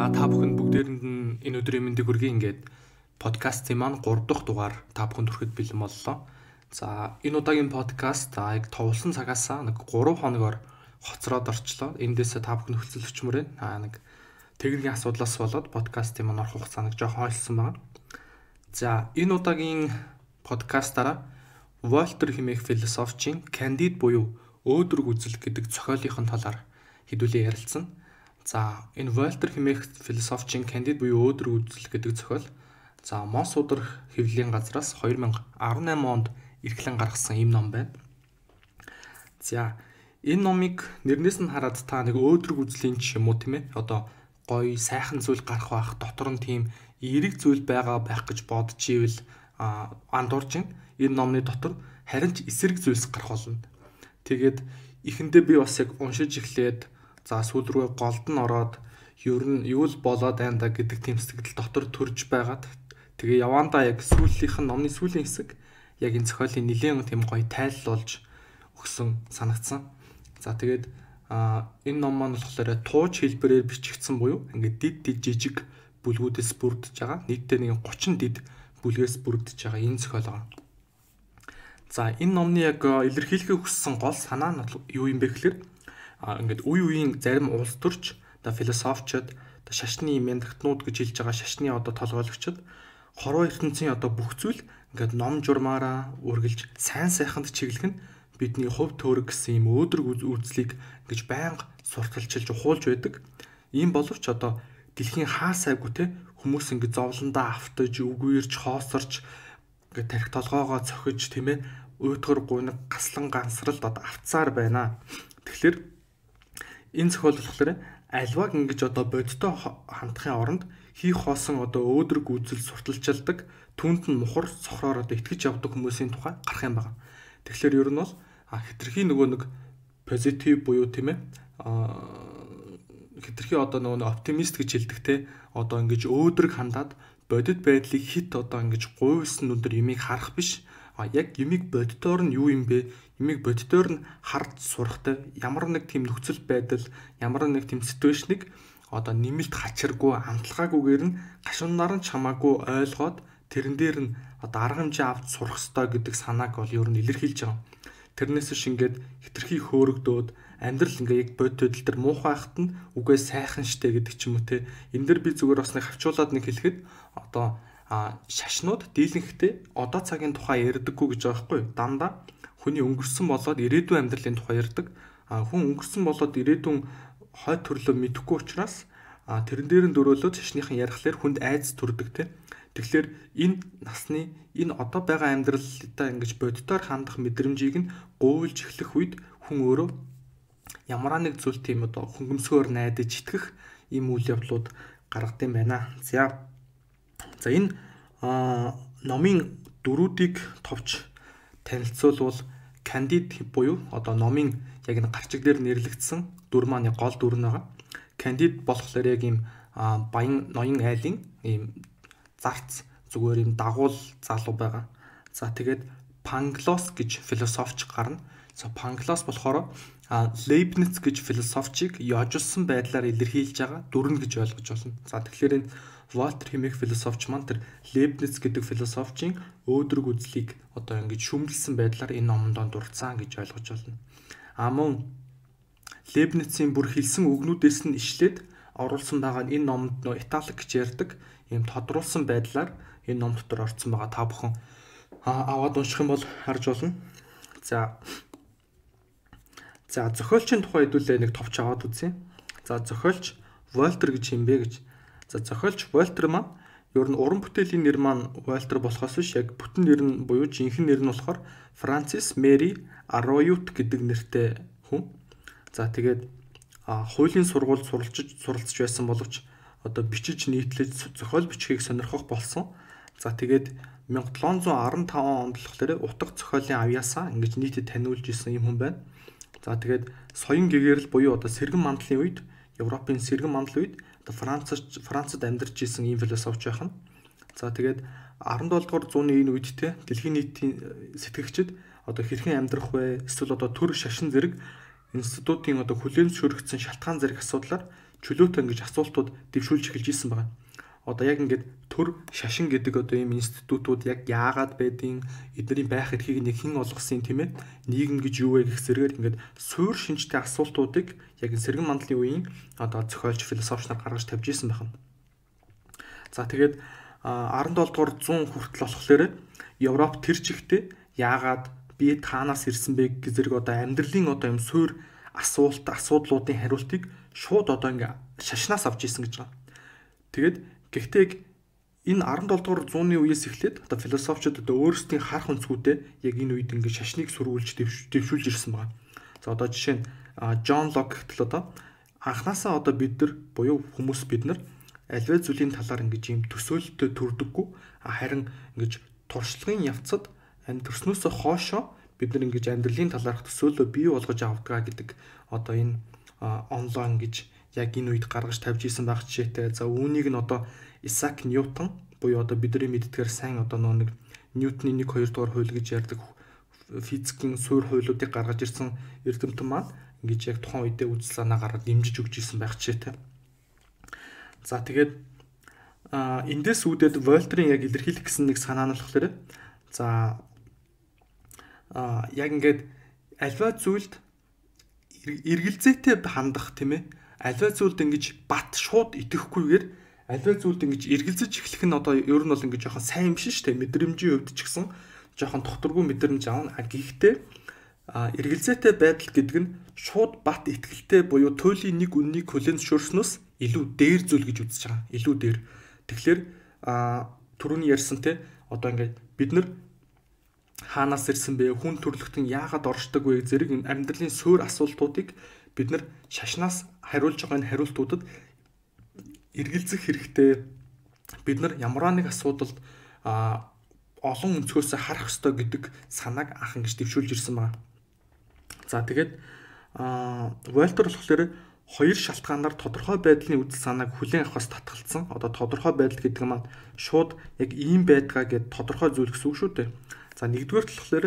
За та бүхэнд бүгдээрэнд нь энэ өдрийн мэндийг хүргэе. Ингээд подкастын маань 3 дахь дугаар та бүхэнд хүрэхэд бэлэн боллоо. За энэ удаагийн подкаст яг товлсон цагаасаа 3 хоногор хоцроод орчлоо. Эндээсээ та бүхэн хөлцөлөгчмөр байна. Техникийн асуудлаас болоод подкастын маань орох хугацаа жоохон ойлсон байна. За энэ удаагийн подкастаараа Вольтер хэмээх философчийн Candide буюу өөдрөг үзэл гэдэг зохиолынхын талаар хэдүүлээ ярилцсан. За энэ Вольтер хэмээх философчийн Candide буюу өөдрөг үзэл гэдэг зохиол Мос ударх хэвлэлийн газраас 2018 онд эрхлэн гаргасан ийм ном байна. За энэ номыг нэрнээс нь хараад та нэг өөдрөг үзлийн ч юм уу тийм ээ одоо гоё сайхан зүйл гарах байх дотор нь тийм эерэг зүйл байх гэж бодож ивэл андуурж энэ номны дотор харин ч эсрэг зүйлс гарах болно. Тэгээд эхэндээ би бас яг уншиж эхлээд сүүл рүү голд нь ороод ер нь юу л болоод байна да гэдэг тийм сэтгэл дотор төрж байгаад тэгээ явандаа яг номны сүүлийн хэсэг яг энэ зохиолын нэлээд тийм гоё тайлбарлаж өгсөн санагдсан. За тэгээд энэ ном маань болохоор тууж хэлбэрээр бичигдсэн буюу ингээд дид жижиг бүлгүүдээс бүрдэж байгаа. Нийтдээ нэг 30 дид бүлгээс бүрдэж байгаа энэ зохиол байгаа. За энэ номны яг илэрхийлэхийг хүссэн гол санаа нь юу юм бэ гэхээр ингээд үе үеийн зарим улс төрч философчид шашны мянгатнууд гэж хэлж байгаа шашны толгойлогчид хорвоо ертөнцийн бүх зүйл ингээд ном журмаараа үргэлж сайн сайханд чиглэх нь бидний хувь төрөг гэсэн юм өөдрөг үзлийг гэж байнга сурталчилж ухуулж байдаг. Ийм боловч дэлхийн хаа сайгүй те хүмүүс ингээд зовлондоо автаж үгүйрч хоосорч ингээд тарих толгоогоо цохиж тийм ээ уйтгар гуниг гаслан гансралд авцаар байна. Тэгэхээр энэ зохиол болохоор альваг ингэж бодиттой хандахын оронд хийх хоосон өөдрөг үзэл сурталчилдаг түнд нь мухар цохроор итгэж явдаг хүмүүсийн тухай гарах юм байна. Тэгэхээр ер нь бол хитрхи нөгөө нэг позитив буюу тийм ээ хитрхи нөгөө оптимист гэж хэлдэг те ингэж өөдрөг хандаад бодит байдлыг хит ингэж гуйсан нүдээр юмыг харах биш. Яг юмыг бодитоор нь юу юм бэ? Юмыг бодитоор нь харж сурахтай ямар нэг тийм нөхцөл байдал, ямар нэг тийм ситуашныг нэмэлт хачиргүй, амтлагаагүйгээр нь гашуунаар нь чамаагүй ойлгоод тэрэн дээр нь арга хэмжээ авч сурах ёстой гэдэг санааг бол ер нь илэрхийлж байгаа. Тэрнээс шингээд хитрхи хөөрөгдөөд амьдрал яг бодит байдал дээр муухай хахад нь үгүй сайхан штэ гэдэг ч юм уу те. Энэ дэр би зүгээр бас нэг хавчуулаад нэг хэлэхэд шашнууд дийлэнхтэй одоо цагийн тухай ярьдаггүй гэж байгаа байхгүй. Дандаа хүний өнгөрсөн болоод ирээдүйн амьдралын тухай ярьдаг. Хүн өнгөрсөн болоод ирээдүйн хойд төрлөө мэдэхгүй учраас тэрэн дээр нь дөрөөлөөд шашныхан ярихлаар хүнд айц төрдөг те. Тэгэхээр энэ насны энэ одоо байгаа амьдралдаа ингэж бодитоор хандах мэдрэмжийг нь гуйлж эхлэх үед хүн өөрөө ямар нэг зүйл тийм хөнгөмсгөөр найдаж итгэх ийм үйл явдлууд гаргадаг юм байна. За энэ номын дөрүүдийг товч танилцуулбал Candide буюу номын яг энэ гарчиг дээр нэрлэгдсэн дүр маань гол дүр нь байгаа. Candide болохоор яг ийм баян ноён айлын ийм зарц зүгээр ийм дагуул залуу байгаа. За тэгээд Pangloss гэж философч гарна. Pangloss болохоор Leibniz гэж философчийг яожулсан байдлаар илэрхийлж байгаа дүрнэ гэж ойлгож байна. За тэгэхээр энэ Вольтер хэмээх философч маань тэр Leibniz гэдэг философчийн өөдрөг үзлийг ингэж шүмжилсэн байдлаар энэ номонд дурдсан гэж ойлгож байна. Мөн Leibniz-ийн бүр хэлсэн үгнүүдээс нь ишлээд оруулсан байгаа энэ номонд италик гэж ярьдаг ийм тодруулсан байдлаар энэ ном дотор орцсон байгаа. Та бүхэн аваад унших юм бол харж болно. За зохиолчийн тухай хэдүүлээ нэг товч аваад үзье. За зохиолч Вольтер гэж юм бэ гэж. За зохиолч Вольтер маань ер нь уран бүтээлийн нэр маань Вольтер болохоос биш яг бүтэн нэр нь буюу жинхэнэ нэр нь болохоор Франсис Мэри Ароют гэдэг нэртэй хүн. За тэгээд хуулийн сургуульд суралцж байсан боловч бичиж нийтлэж зохиол бичгийг сонирхох болсон. За тэгээд 1715 онд болохоор утга зохиолын авьяасаа ингэж нийтэд таниулж исэн юм хүн байна. За тэгээд соён гэгэрэл буюу сэргэн мандлын үед Европын сэргэн мандал үед Францад амьдарч исэн ийм философч байх нь. За тэгээд 17 дугаар зууны энэ үед те дэлхийн нийтийн сэтгэгчид хэрхэн амьдрах вэ? Эсвэл төр шашин зэрэг институтын хүлээн зөвшөөрөгдсөн шалтгаан зэрэг асуудлаар чөлөөтэй ингэж асуултууд дэвшүүлж эхэлж исэн байгаа. Одоо яг ингээд төр шашин гэдэг одоо ийм институтууд яг яагаад байдیں, эдний байх эрхийг нэг хэн олгосон тийм ээ, нийгэм гэж юу вэ гэх зэрэгээр ингээд суур шинжтэй асуултуудыг яг сэргэн мандлын үеийн одоо зохиолч философч нар гаргаж тавьж исэн байна. За тэгээд 17 дугаар 100 хүртэл болохоор Европ тэр чигтээ яагаад би таанаас ирсэн бэ гэх зэрэг одоо амьдралын одоо юм суур асуудлуудын хариултыг шууд одоо ингээ шашнаас авч исэн гэж байна. Тэгээд гэхдээ энэ 17 дугаар зууны үеэс эхлээд одоо философчид одоо өөрсдийн харах өнцгүүдээ яг энэ үед ингээ шашныг сүрүүлж дэвшүүлж ирсэн байна. За одоо жишээ нь Джон Лок гэтэл одоо анханасаа одоо бид нар буюу хүмүүс бид нар аливаа зүйлийн талаар ингэж юм төсөөлөлтөд төрдөггүй, харин ингэж туршлагын явцад төрснөөсөө хоошоо бид нар ингэж амьдралын талаарх төсөөлөлөө бий болгож авдаг гэдэг одоо энэ онлайн гэж яг энэ үед гаргаж тавьж исэн байх жишээтэй. За үүнийг нь одоо Исаак Ньютон буюу одоо бидний мэддгээр сайн одоо нэг Ньютоны 1-2 дугаар хууль гэж ярьдаг физикийн суур хуулиудыг гаргаж ирсэн эрдэмтэн маань ингэж яг тухайн үедээ үзэл санаа гаргаж дэмжиж өгч исэн байх жишээтэй. За тэгээд эндээс үүдээд Вольтерийн яг илэрхийлэх гэсэн нэг санаа нь болохоор за яг ингээд альва зүйлд эргэлзээтэй хандах тийм ээ, альва зүйлд ингэж бат шууд итгэхгүйгээр альва зүйлд ингэж эргэлзэж эхлэх нь одоо ер нь бол ингэж жоохон сайн юм шиг шүү дээ. Мэдрэмжийн хувьд ч гэсэн жоохон докторгүй мэдрэмж аавна. Гэхдээ эргэлзээтэй байдал гэдэг нь шууд бат итгэлтэй буюу туйлын нэг үннийг хүлээн зөвшөөрснөөс илүү дээр зүйл гэж үзэж байгаа. Илүү дээр. Тэгэхээр түрүүний ярьсан те одоо ингээд бид нар хаанаас ирсэн бэ? Хүн төрлөختөн яагаад оршдог вэ? Зэрэг амьдралын суур асуултуудыг бид нар шашнаас хариулж байгаа энэ хариултуудад эргэлзэх хэрэгтэй. Бид нар ямар нэг асуудалд олон өнцгөөс харах ёстой гэдэг санааг анх ингэж дэвшүүлж ирсэн байна. За тэгээд Вольтер болохоор хоёр шалтгаанаар тодорхой байдлын үзэл санааг хүлээн авахаас татгалцсан. Одоо тодорхой байдал гэдэг нь шууд яг ийм байдгаа гэд тодорхой зүйл гэсэн үг шүү дээ. За нэгдүгээр болохоор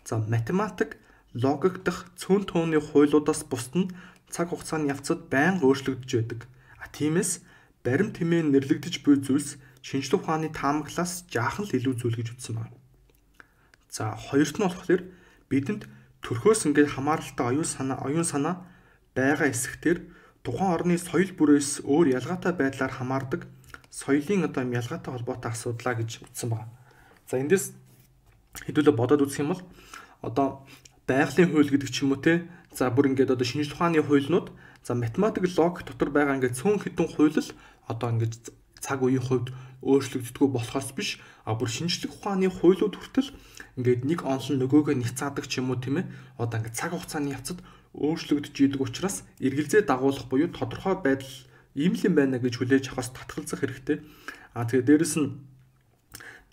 за математик логик дах цөөн тооны хуйлуудаас бусд нь цаг хугацааны явцад байнга өөрчлөгдөж байдаг. Тиймээс баримт хэмээн нэрлэгдэж буй зүйлс шинжлэх ухааны таамаглаас жаахан л илүү зүйл гэж үзсэн байна. За хоёрт нь болохоор бидэнд төрхөөс ингээд хамааралтай оюун санаа байгаа эсхтэр тухайн орны соёл бүрээс өөр ялгаатай байдлаар хамаардаг соёлын одоо ялгаатай холбоотой асуудлаа гэж үзсэн байна. За эндээс хэдүүлээ бодоод үзэх юм бол одоо байгалийн хууль гэдэг ч юм уу те, за бүр ингээд одоо шинжлэх ухааны хуйлнууд, за математик логик дотор байгаа ингээд цөөн хэдэн хууль л одоо ингээд цаг үеийн хувьд өөрчлөгддөггүй болохоос биш, бүр шинжлэх ухааны хуулиуд хүртэл ингээд нэг онлон нөгөөгөө няцаадаг ч юм уу тийм ээ, одоо ингээд цаг хугацааны явцад өөрчлөгдөж идэг учраас эргэлзээ дагуулах буюу тодорхой байдал ийм л юм байна гэж хүлээж авахаас татгалзах хэрэгтэй. Тэгээд дээрэс нь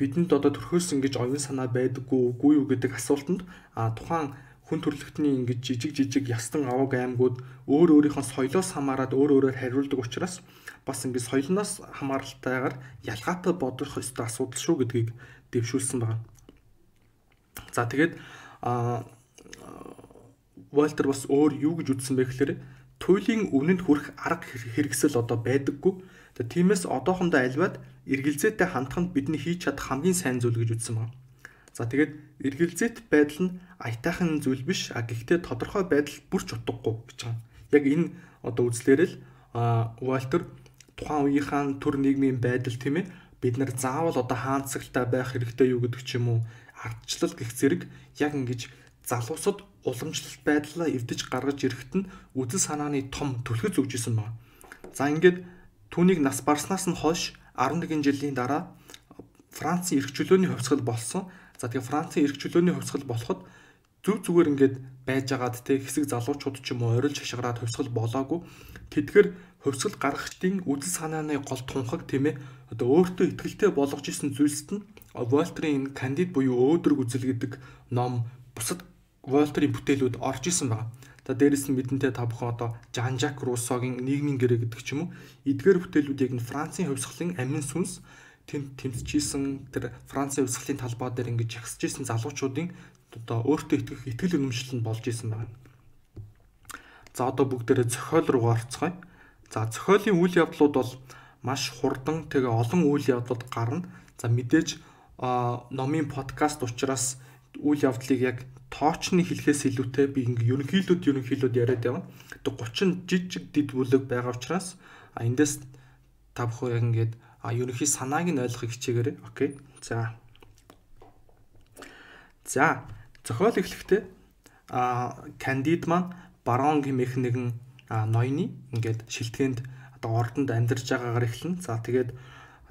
бидэнд одоо төрхөөс ингэж оюун санаа байдаггүй үгүй юу гэдэг асуултанд тухайн хүн төрөлхтний ингэж жижиг ястан аваг аймагуд өөр өөрийнхөө соёлоос хамаарат өөр өөрөөр хариулдаг учраас бас ингэ соёлноос хамааралтайгаар ялгаатай бодох ёстой асуудал шүү гэдгийг дэвшүүлсэн байна. За тэгээд Вольтер бас өөр юу гэж үзсэн бэ гэхээр туйлын үнэнд хүрэх арга хэрэгсэл одоо байдаггүй. Тиймээс одоохондоо альваад эргэлзээтэй хандханд бидний хийж чадах хамгийн сайн зүйл гэж үзсэн байна. За тэгээд эргэлзээт байдал нь аятайхан зүйл биш, гэхдээ тодорхой байдал бүрч утгагүй гэж байна. Яг энэ одоо үзлээрээ л Вольтер тухайн үеийнхэн төр нийгмийн байдал тийм ээ, бид нар заавал одоо хаанцагтай байх хэрэгтэй юу гэдэг ч юм уу, ардчлал гэх зэрэг яг ингэж залуусад уламжлалт байдлаа эвдэж гаргаж ирэхэд нь үзэл санааны том түлхэж өгч исэн байна. За ингээд түүнийг нас барснаас нь хойш 11 жилийн дараа Францын эрх чөлөөний хувьсгал болсон. За тэгээ Францын эрх чөлөөний хувьсгал болоход зүгээр ингээд байж агаад те хэсэг залуучууд ч юм уу орилж хашгираад хувьсгал болоогүй. Тэдгээр хувьсгал гаргагчдын үзэл санааны гол тунхаг тийм ээ, одоо өөртөө ихтэй болгож исэн зүйлсд нь Вольтерийн Кандид буюу өөдрөг үзэл гэдэг ном, бусад Вольтерийн бүтээлүүд орж исэн байна. Дээрээс нь мэдэнтэй та бүхэн одоо Жан-Жак Руссогийн нийгмийн гэрээ гэдэг ч юм уу, эдгээр бүтээлүүд яг нь Францын хувьсгалын амин сүнс тэмцэжсэн тэр Францын хувьсгалын талбай дээр ингэж ягсажсэн залуучуудын одоо өөртөө итгэх итгэл үнэмшил нь болж исэн байна. За одоо бүгдээрээ зохиол руу орцгоё. За зохиолын үйл явдлууд бол маш хурдан тэгээ олон үйл явдлууд гарна. За мэдээж номын подкаст учраас үйл явдлыг яг тоочны хэлхээс илүүтэй би ингээ ерөнхийлүүд яриад явна. Тэгээ 30 жижиг дид бүлэг байгаа учраас эндээс та бүхэн яг ингээд ерөнхий санааг нь ойлгохыг хичээгээрэй. Окей. За зохиол эхлэхдээ Кандид маань барон гэмэх нэгэн ноёны ингээд шилтгэнд одоо ордонд амьдарч байгаагаар эхэлнэ. За тэгээд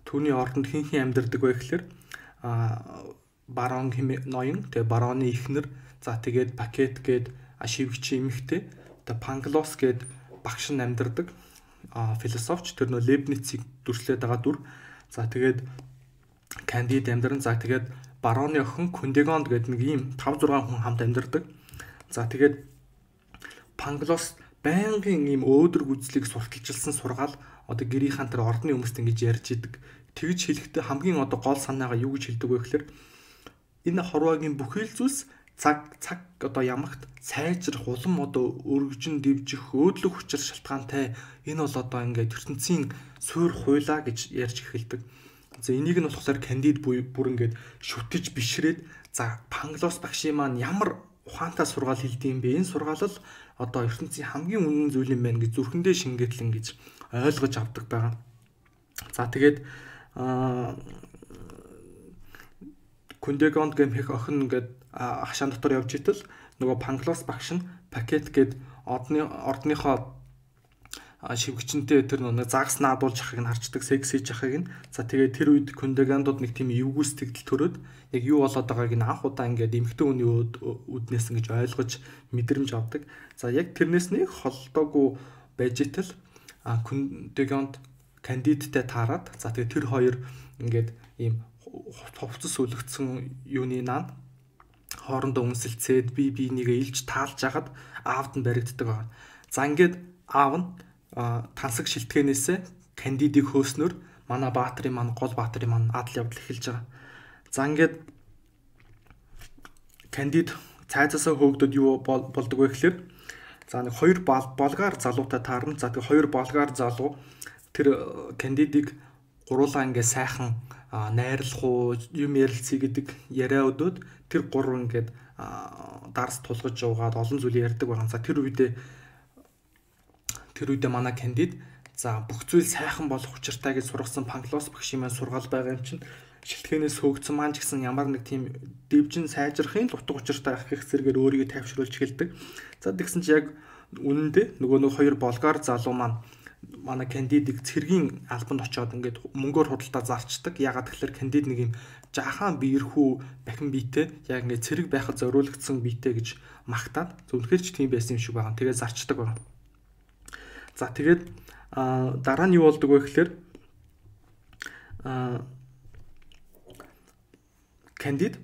түүний ордонд хэн амьдардаг вэ гэхээр барон гэмэх ноён, тэгээд бароны эхнэр, за тэгээд Пакет гээд шивгч эмэгтэй, тэгээд Панглос гээд багш нь амьдардаг философч, тэр нөө Лебницийг дүрслээд байгаа дүр. За тэгээд Кандид амьдарна. За тэгээд бароны охин Кундегонд гээд нэг ийм 5-6 хүн хамт амьдардаг. За тэгээд Панглос байнгын ийм өөдрөг үзлийг сурталчилсан сургаал одоо гэрийнхэн тэр ордны хүмүүст ингэж ярьж идэг. Тэгж хэлэхдээ хамгийн одоо гол санаагаа юу гэж хэлдэг вэ гэхээр энэ хорвоогийн бүхэл зүйлс цаг одоо ямагт сайжрах улам одоо өргөжин дэвжих өөдлөх хүчээр шалтгаантай. Энэ бол одоо ингээд ертөнцийн суурь хуйлаа гэж ярьж эхэлдэг. За энийг нь болохоор Кандид бүр ингээд шүтэж бишрээд за Панглос багшийн маань ямар ухаантай сургаал хэлдэг юм бэ? Энэ сургаал л одоо ертөнцийн хамгийн үнэн зүйл юм байна гэж зүрхэндээ шингээтлэн гэж ойлгож авдаг байгаа. За тэгээд Кундегонд гэмэх охин ингээд хашаан дотор явж итэл нөгөө Панглос багш нь Пакет гээд ордныхоо шивгчэнтэй тэр нэг загас наадуулж ахыг нь харчдаг, сексиж ахыг нь. За тэгээд тэр үед Кундегондод нэг тийм эвгүй сэтгэл төрөөд яг юу болоод байгааг нь анх удаа ингээд эмэгтэй хүний үднээс ингэж ойлгож мэдрэмж авдаг. За яг тэрнээс нэг холдоогүй байж итэл Кундегонд Кандидтэй таарад. За тэгээд тэр хоёр ингээд ийм хувцас үлгцсэн юуны наад хоорондоо үнсэлцээд бие-бинийгээ илж таалж хагаад аавд нь баригддаг байна. За ингээд аав нь тансаг шилтгэнээсээ Кандидийг хөөснөр манай баатарын маань гол баатарын маань адал явдал эхэлж байгаа. За ингээд Кандид цайзаасаа хөөгдөд юу болдог вэ гэхээр за нэг хоёр болгар залуутай таарна. За тэгээ хоёр болгар залуу тэр Кандидийг гуруулаа ингээд сайхан найрлах уу юм ярилцъя гэдэг яриа өдөөд тэр гурав ингээд дарс тулгаж яваад олон зүйл ярьдаг байгаа. За тэр үедээ манай Кандид за бүх зүйл сайхан болох учиртай гэж сургасан Панглос багшийн маань сургаал байгаа юм чинь шилтгэнээс хөөгдсөн маань ч гэсэн ямар нэг тийм дэвжин сайжрахын л утга учиртай ах гэх зэрэгээр өөрийгөө тайвшруулж эхэлдэг. За тэгсэн чи яг үнэндээ нөгөө хоёр болгар залуу маань манай Кандидийг цэргийн албанд очиод ингээд мөнгөөр худалдаа зарчдаг. Ягаад гэхээр Кандид нэг юм жаахан биерхүү бахин биетэй яг ингээд цэрэг байхад зориулагдсан биетэй гэж магтаад зөвхөн ч тийм байсан юм шиг байгаа. Тэгээ зарчдаг байна. За тэгээд дараа нь юу болдог вэ гэхээр Кандид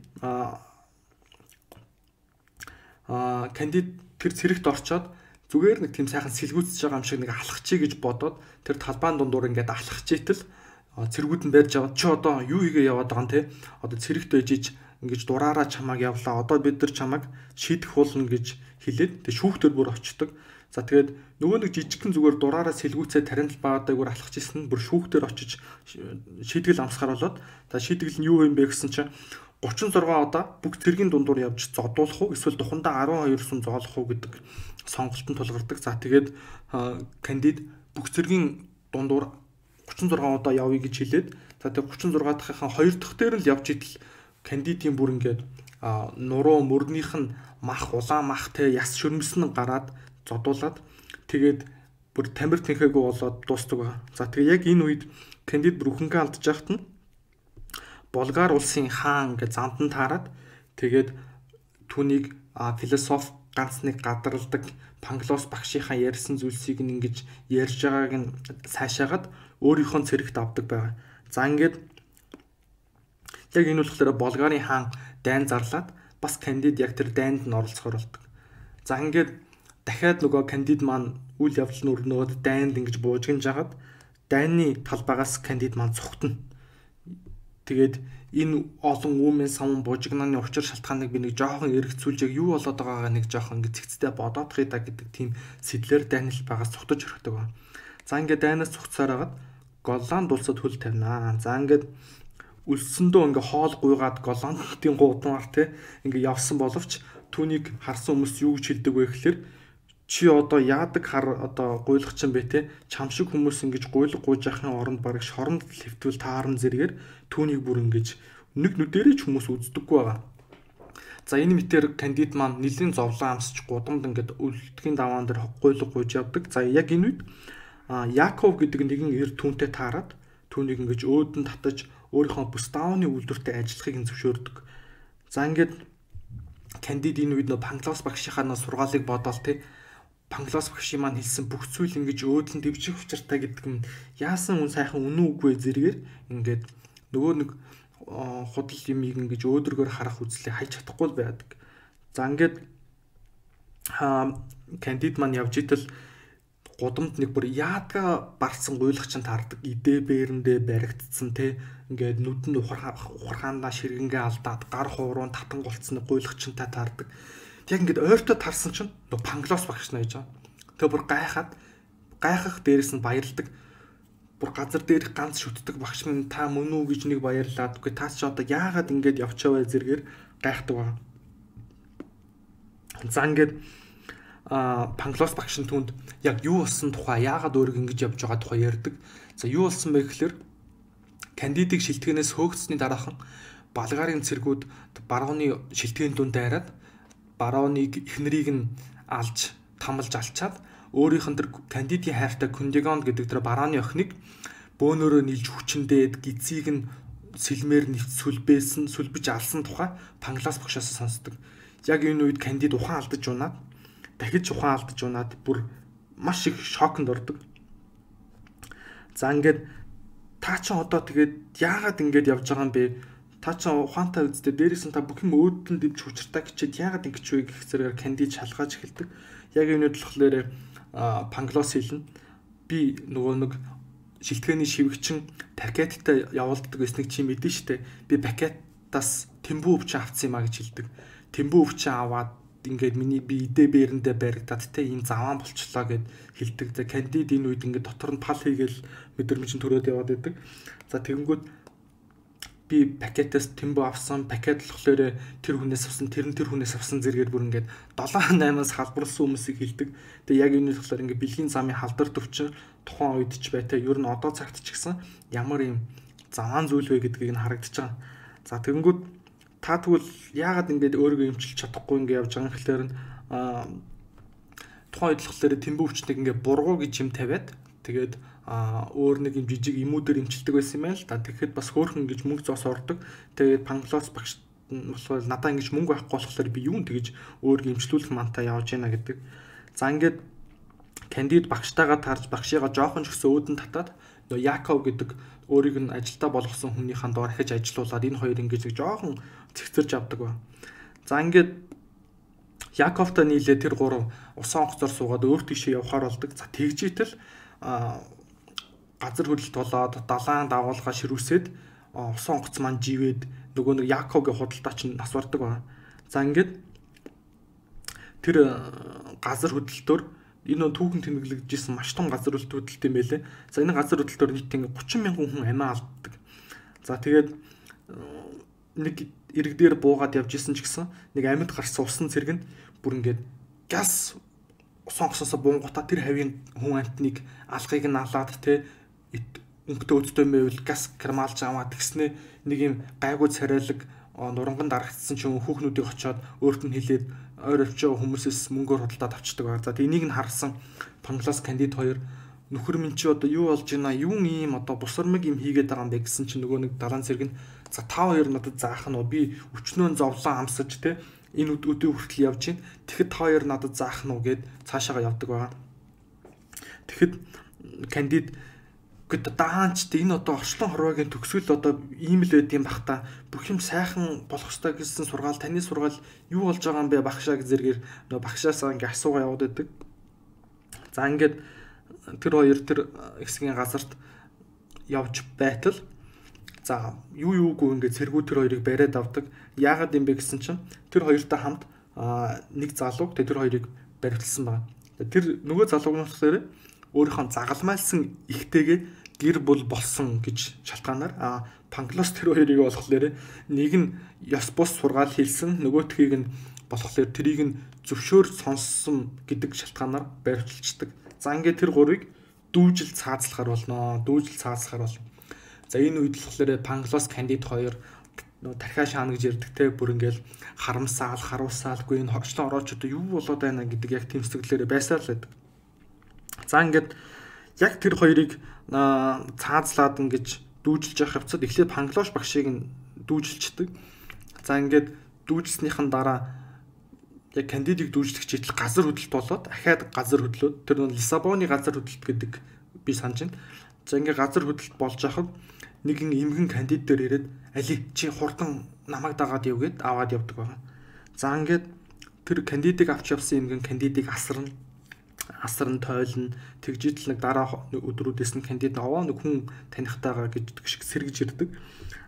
тэр цэрэгт орчоод зүгээр нэг тийм сайхан сэлгүүцэж байгаа юм шиг нэг алхачий гэж бодоод тэр талбайн дундуур ингээд алхачийтэл цэргүүд нь барьж аваад чи одоо юу хийгээ яваад байгаа юм те одоо цэрэгт ээжиж ингэж дураараа чамааг явлаа одоо бид нар чамааг шийдэх болно гэж хэлээд тэг шүүхтэр бүр очдөг. За тэгээд нөгөө нэг жижигхэн зүгээр дураараа сэлгүүцээ таринтал баадаг бүр алхаж исэн бүр шүүхтэр очиж шийтгэл амсгаар болоод та шийтгэл нь юу юм бэ гэсэн чинь 36 удаа бүх цэргийн дундуур явж зодуулах уу эсвэл духандаа 12 сум зоолох уу гэдэг сонголтод тулгардаг. За тэгээд Кандид бүх цэргийн дундуур 36 удаа явъя гэж хэлээд за тэгээд 36 дахьынхаа 2 дахь дээр л явж идэл Кандидийн бүр ингээд нуруу мөрнийх нь мах улаан мах те яс шөрмөсөн гараад зодуулаад тэгээд бүр тамир тэнхээгүй болоод дуустдаг байна. За тэгээд яг энэ үед Кандид бүр өхөнгөө алдаж яхад нь Болгар улсын хаан гэж замдан таарад тэгээд түүнийг философи ганц нэг гадралдаг Панглос багшийнхаа ярьсан зүйлсийг ингэж ярьж байгааг нь сайшаагаад өөрийнхөө цэрэгт авдаг байгаа. За ингээд яг энэ болохоор Болгарын хаан дайн зарлаад бас Кандид яг тэр дайнд нь оролцохоор болдог. За ингээд дахиад нөгөө Кандид маань үйл явдал нь өрнөөд дайнд ингэж буужгинж агаад дайны талбайгаас Кандид маань цухтана. Тэгээд энэ олон үүмэн савн бужигнаны учир шалтгааныг би нэг жоохон эргэцүүлж яг юу болоод байгаагаа нэг жоохон ингэ цэгцтэй бодоодхий да гэдэг тийм сэтлэр дайнал байгаас цухтаж өрхөдөг байна. За ингээд дайнаас цугцаар хагаад Голланд улсад хөл тавина. За ингээд үлсэндөө ингээ хоол гуйгаад Голландын гудамар те ингээ явсан боловч түүнийг харсан хүмүүс юу гэж хэлдэг вэ гэхээр чи одоо яадаг хар одоо гуйлах чинь бэ те чам шиг хүмүүс ингэж гуйлах гуйж яхахын оронд бараг шоронд хэвтвэл таарн зэрэгээр түүнийг бүр ингэж нэг нүдэрээ ч хүмүүс үздэггүй байгаа. За энэ мэтэр кандидат маань нэлийн зовлон амсч гудамд ингээд үлдэхийн даваан дээр гуйлах гуйж явдаг. За яг энэ үед Яков гэдэг нэгэн эр түүнтэй таарад түүнийг ингэж өөдөн татаж өөрийнхөө Буставны үйлдвэртэй ажиллахыг зөвшөөрдөг. За ингээд кандидат энэ үед нөө Панглос багшийнхаа сургаалыг бодоол те Панглос багшийн маань хэлсэн бүх зүйл ингэж өөдлөн дэвжих учиртай гэдэг нь яасан хүн сайхан үнэн үгүй зэрэгээр ингээд нөгөө нэг худал юмыг ингэж өөдрөгөр харах үзлээ хайж чадахгүй байдаг. За ингээд кандидат маань явж итэл гудамд нэг бүр яадга барсан гуйлах чинь таардаг. Идэ бээрэндээ баригдсан те ингээд нүдэнд ухархаандаа ширгэнгээ алдаад гар хууруун татан голцсон гуйлах чинь таардаг. Яг ингээд ойртоо тарсан чинь нөгөө Панглос багш нэ гэж байгаа. Тэгээ бүр гайхах дээрээс нь баярлдаг. Бүр газар дээрх ганц шүтдэг багш минь та мөн үү гэж нэг баярлаад. Үгүй та ч одоо яагаад ингээд явчаавэ зэрэгээр гайхдаг байгаа. За ингээд Панглос багш нь түнд яг юу болсон тухай яагаад өөрийг ингэж явж байгаа тухай ярьдаг. За юу болсон бэ гэхээр кандидатыг шилтгэнээс хөөгцсөний дараахан Балгарын цэргүүд барууны шилтгэн дүнд дайраад барууныг эхнэрийг нь алж тамалж алчаад өөрийнх нь тэр кандидатийн хайртай Кундигон гэдэг тэр барууны охиныг бөөнөрөө нийлж хүчндээд гизийг нь сэлмээр нэвт сүлбэж алсан тухай Панглос багшаас сонсдог. Яг энэ үед кандидат ухаан алдаж унаад дахиж ухаан алдаж унаад бүр маш их шоконд ордог. За ингээд та ч одоо тэгээд яагаад ингэж явж байгаа юм бэ? Та ч ухаантай үздэй дээрээс нь та бүх юм өөдөн дэвж хүчртаа гिचээд яагаад ингэж вэ гэх зэрэг кандидат шалгаж эхэлдэг. Яг энэ үед болохоор Панглос хэлнэ. Би нөгөө нэг шилтгэний шивгчин пакеттай явуулдаг гэснийг чи мэдэн штэ. Би пакетаас тэмбүү өвчин авсан юм а гэж хэлдэг. Тэмбүү өвчин аваад ингээд миний би идэ бээрэндээ баригдаад те ийм заваан болчлоо гэд хэлдэг. За кандидат энэ үед ингээд дотор нь пал хийгээл мэдрэмж төрөөд яваад байдаг. За тэгэнгүүт би пакетаас тэмбүү авсан, пакет болохоор тэр хүнээс авсан, тэр хүнээс авсан зэрэгээр бүр ингээд 7-8-аас халбарлсан хүмүүсийг хэлдэг. Тэгээ яг энэ болохоор ингээд бэлгийн замын халдар төвчин тухайн үед ч бай те ер нь одоо цагт ч гэсэн ямар ийм заваан зүйл вэ гэдгийг нь харагдаж байгаа. За тэгэнгүүт та тэгвэл яагаад ингэж өөрийгөө эмчилж чадахгүй ингэ явж байгаа юм гэхээр тухайн үед болохоор тэмбүү өвчнийг ингэ бургуу гэж юм тавиад тэгээд өөр нэг юм жижиг эмүүдээр эмчилдэг байсан юм байл та. Тэгэхэд бас хөөхөн гэж мөнгө зоос ордог. Тэгээд Панглос багш болохоор надаа ингэж мөнгө авахгүй болохоор би юун тэгэж өөрийгөө эмчлүүлэх мантаа явж гинэ гэдэг. За ингээд кандидат багштайгаа тарж багшигаа жоохон ч гэсэн өөдөн татаад нөгөө Яков гэдэг өөрийг нь ажилдаа болгосон хүнийхэн доор ахиж ажилуулад энэ хоёр ингэж нэг жоохон цэгцэрж авдаг ба. За ингээд Яковтай нийлээ тэр гурав усан онгоцоор суугаад өөр тийшээ явахаар болдог. За тэгжээтэл газар хөдлөлт болоод далайн дагуулга ширүүсээд усан онгоц маань живээд нөгөө нэг Яковгийн худалдаа чинь нас бардаг ба. За ингээд тэр газар хөдлөлтөөр энэ түүхэн тэмдэглэгдсэн маш том газар хөдлөлт юм байлээ. За энэ газар хөдлөлтөөр нийт ингээ 30 мянган хүн амиа алддаг. За тэгээд нэг ирэг дээр буугаад явж исэн ч гэсэн нэг амьд гарсан усан цэрэг нь бүр ингээд газ усан онгоцоос буунгуудаа тэр хавийн хүн амтныг алгыг нь алаад те өнгөтэй өдтэй байвал газ кармалж аваад тэгснэ нэг юм гайгүй царайлаг нуранган дарагдсан ч хүүхнүүдийг очиод өөрт нь хэлээд ойр овчоо хүмүүсээс мөнгөөр худалдаад авчдаг баг. За энийг нь харсан Панглос кандидат хоёр нөхөр минь чи одоо юу болж байна? Юун ийм одоо бусармаг юм хийгээд байгаа юм бэ гэсэн чинь нөгөө нэг далайн цэрэг нь за та хоёр надад заах нь би өчнөө зовлон амсаж те энэ өдөө хүртэл явж гин. Тэгэхэд та хоёр надад заах нь гэд цаашаага явдаг байгаа. Тэгэхэд кандидат гэт даанч энэ одоо орчлон хорвогийн төгсгөл одоо ийм л байд юм бах та бүх юм сайхан болох ёстой гэсэн сургаал таны сургаал юу болж байгаа юм бэ багшаа гэж зэрэгээр нөгөө багшаасаа ингээ асуугаа яваад байдаг. За ингээд тэр хоёр тэр хэсгийн газарт явж байтал за юу юугүй ингээ цэргүүд тэр хоёрыг бариад авдаг. Яагаад юм бэ гэсэн чинь тэр хоёртой хамт нэг залууг тэр хоёрыг баривдсан байна. Тэр нөгөө залууг нь болохоор өөрийнхөө загалмайлсан ихтэйгээ гэр бүл болсон гэж шалтгаанаар Панглос тэр хоёрыг болохоор нэг нь ёс бус сургаал хийсэн, нөгөөтхийг нь болохоор тэрийг нь зөвшөөр сонссон гэдэг шалтгаанаар байршилчдаг. За ингээд тэр гурыг дүүжил цаазлахаар болно. За энэ үед болохоор Панглос Кандид хоёр тархиа шаана гэж ярьдаг те, бүр ингээл харамсаал, харуулсаалгүй энэ хорчлон орооч одоо юу болоод байна гэдэг яг тийм сэтгэлээрээ байсаар л байдаг. За ингээд яг тэр хоёрыг цаазлаад ингэж дүүжилж явах явцад эхлээд Панглош багшийг нь дүүжилчдэг. За ингээд дүүжилснийхэн дараа яг Кандидыг дүүжлэх читэл газар хөдлөлт болоод ахаад газар хөдлөөд тэр нь Лиссабоны газар хөдлөлт гэдэг би санаж байна. За ингээд газар хөдлөлт болж хахад нэгэн эмгэн Кандид дээр ирээд али чи хурдан намайг дагаад яв гэд аваад явдаг байна. За ингээд тэр Кандидыг авч явсан эмгэн Кандидыг асарн тойлно, тэгжидл нэг дараа өдрүүдээс нь Кандид аваа нэг хүн танихтайгаа гэж шиг сэргэж ирдэг.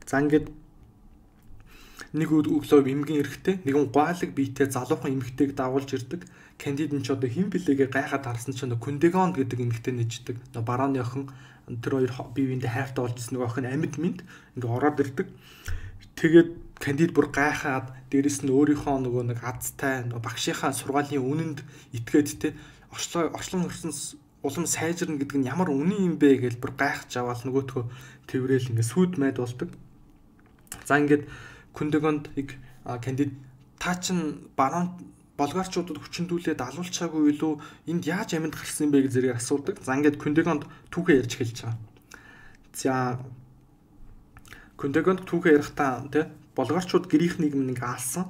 За ингээд нэг өглөө эмгэн эрэхтэй нэгэн гойлог биетэй залуухан эмэгтэйг дагуулж ирдэг. Кандид нь ч одоо хэн блэгээ гайхаад харсан чинь Күндэгонд гэдэг эмэгтэй нэждэг. Барооны охин тэр хоёр бие биендээ хайртай болж ирсэн нэг охин амьд минь ингээ ороод ирдэг. Тэгээд Кандид бүр гайхаад дээрэс нь өөрийнхөө нөгөө нэг азтай багшийнхаа сургаалын үнэнд итгээд те очлон өрсөн улам сайжирна гэдэг нь ямар үнэн юм бэ гэж бүр гайхаж аваад нөгөөтгөө тэрэл ингээ сүйд майд болдог. За ингээд Күндэгонд Кандид та чин баруун болгарчуудад хүчндүүлээд алуулчаагүй илүү энд яаж амьд гарсан бэ гэж зэрэг асуудаг. За ингээд Күндэгонд түүхээ ярьж эхэлж байгаа. За Күндэгонд түүхээ ярихдаа тий болгарчууд грек нийгэм ингээ алсан.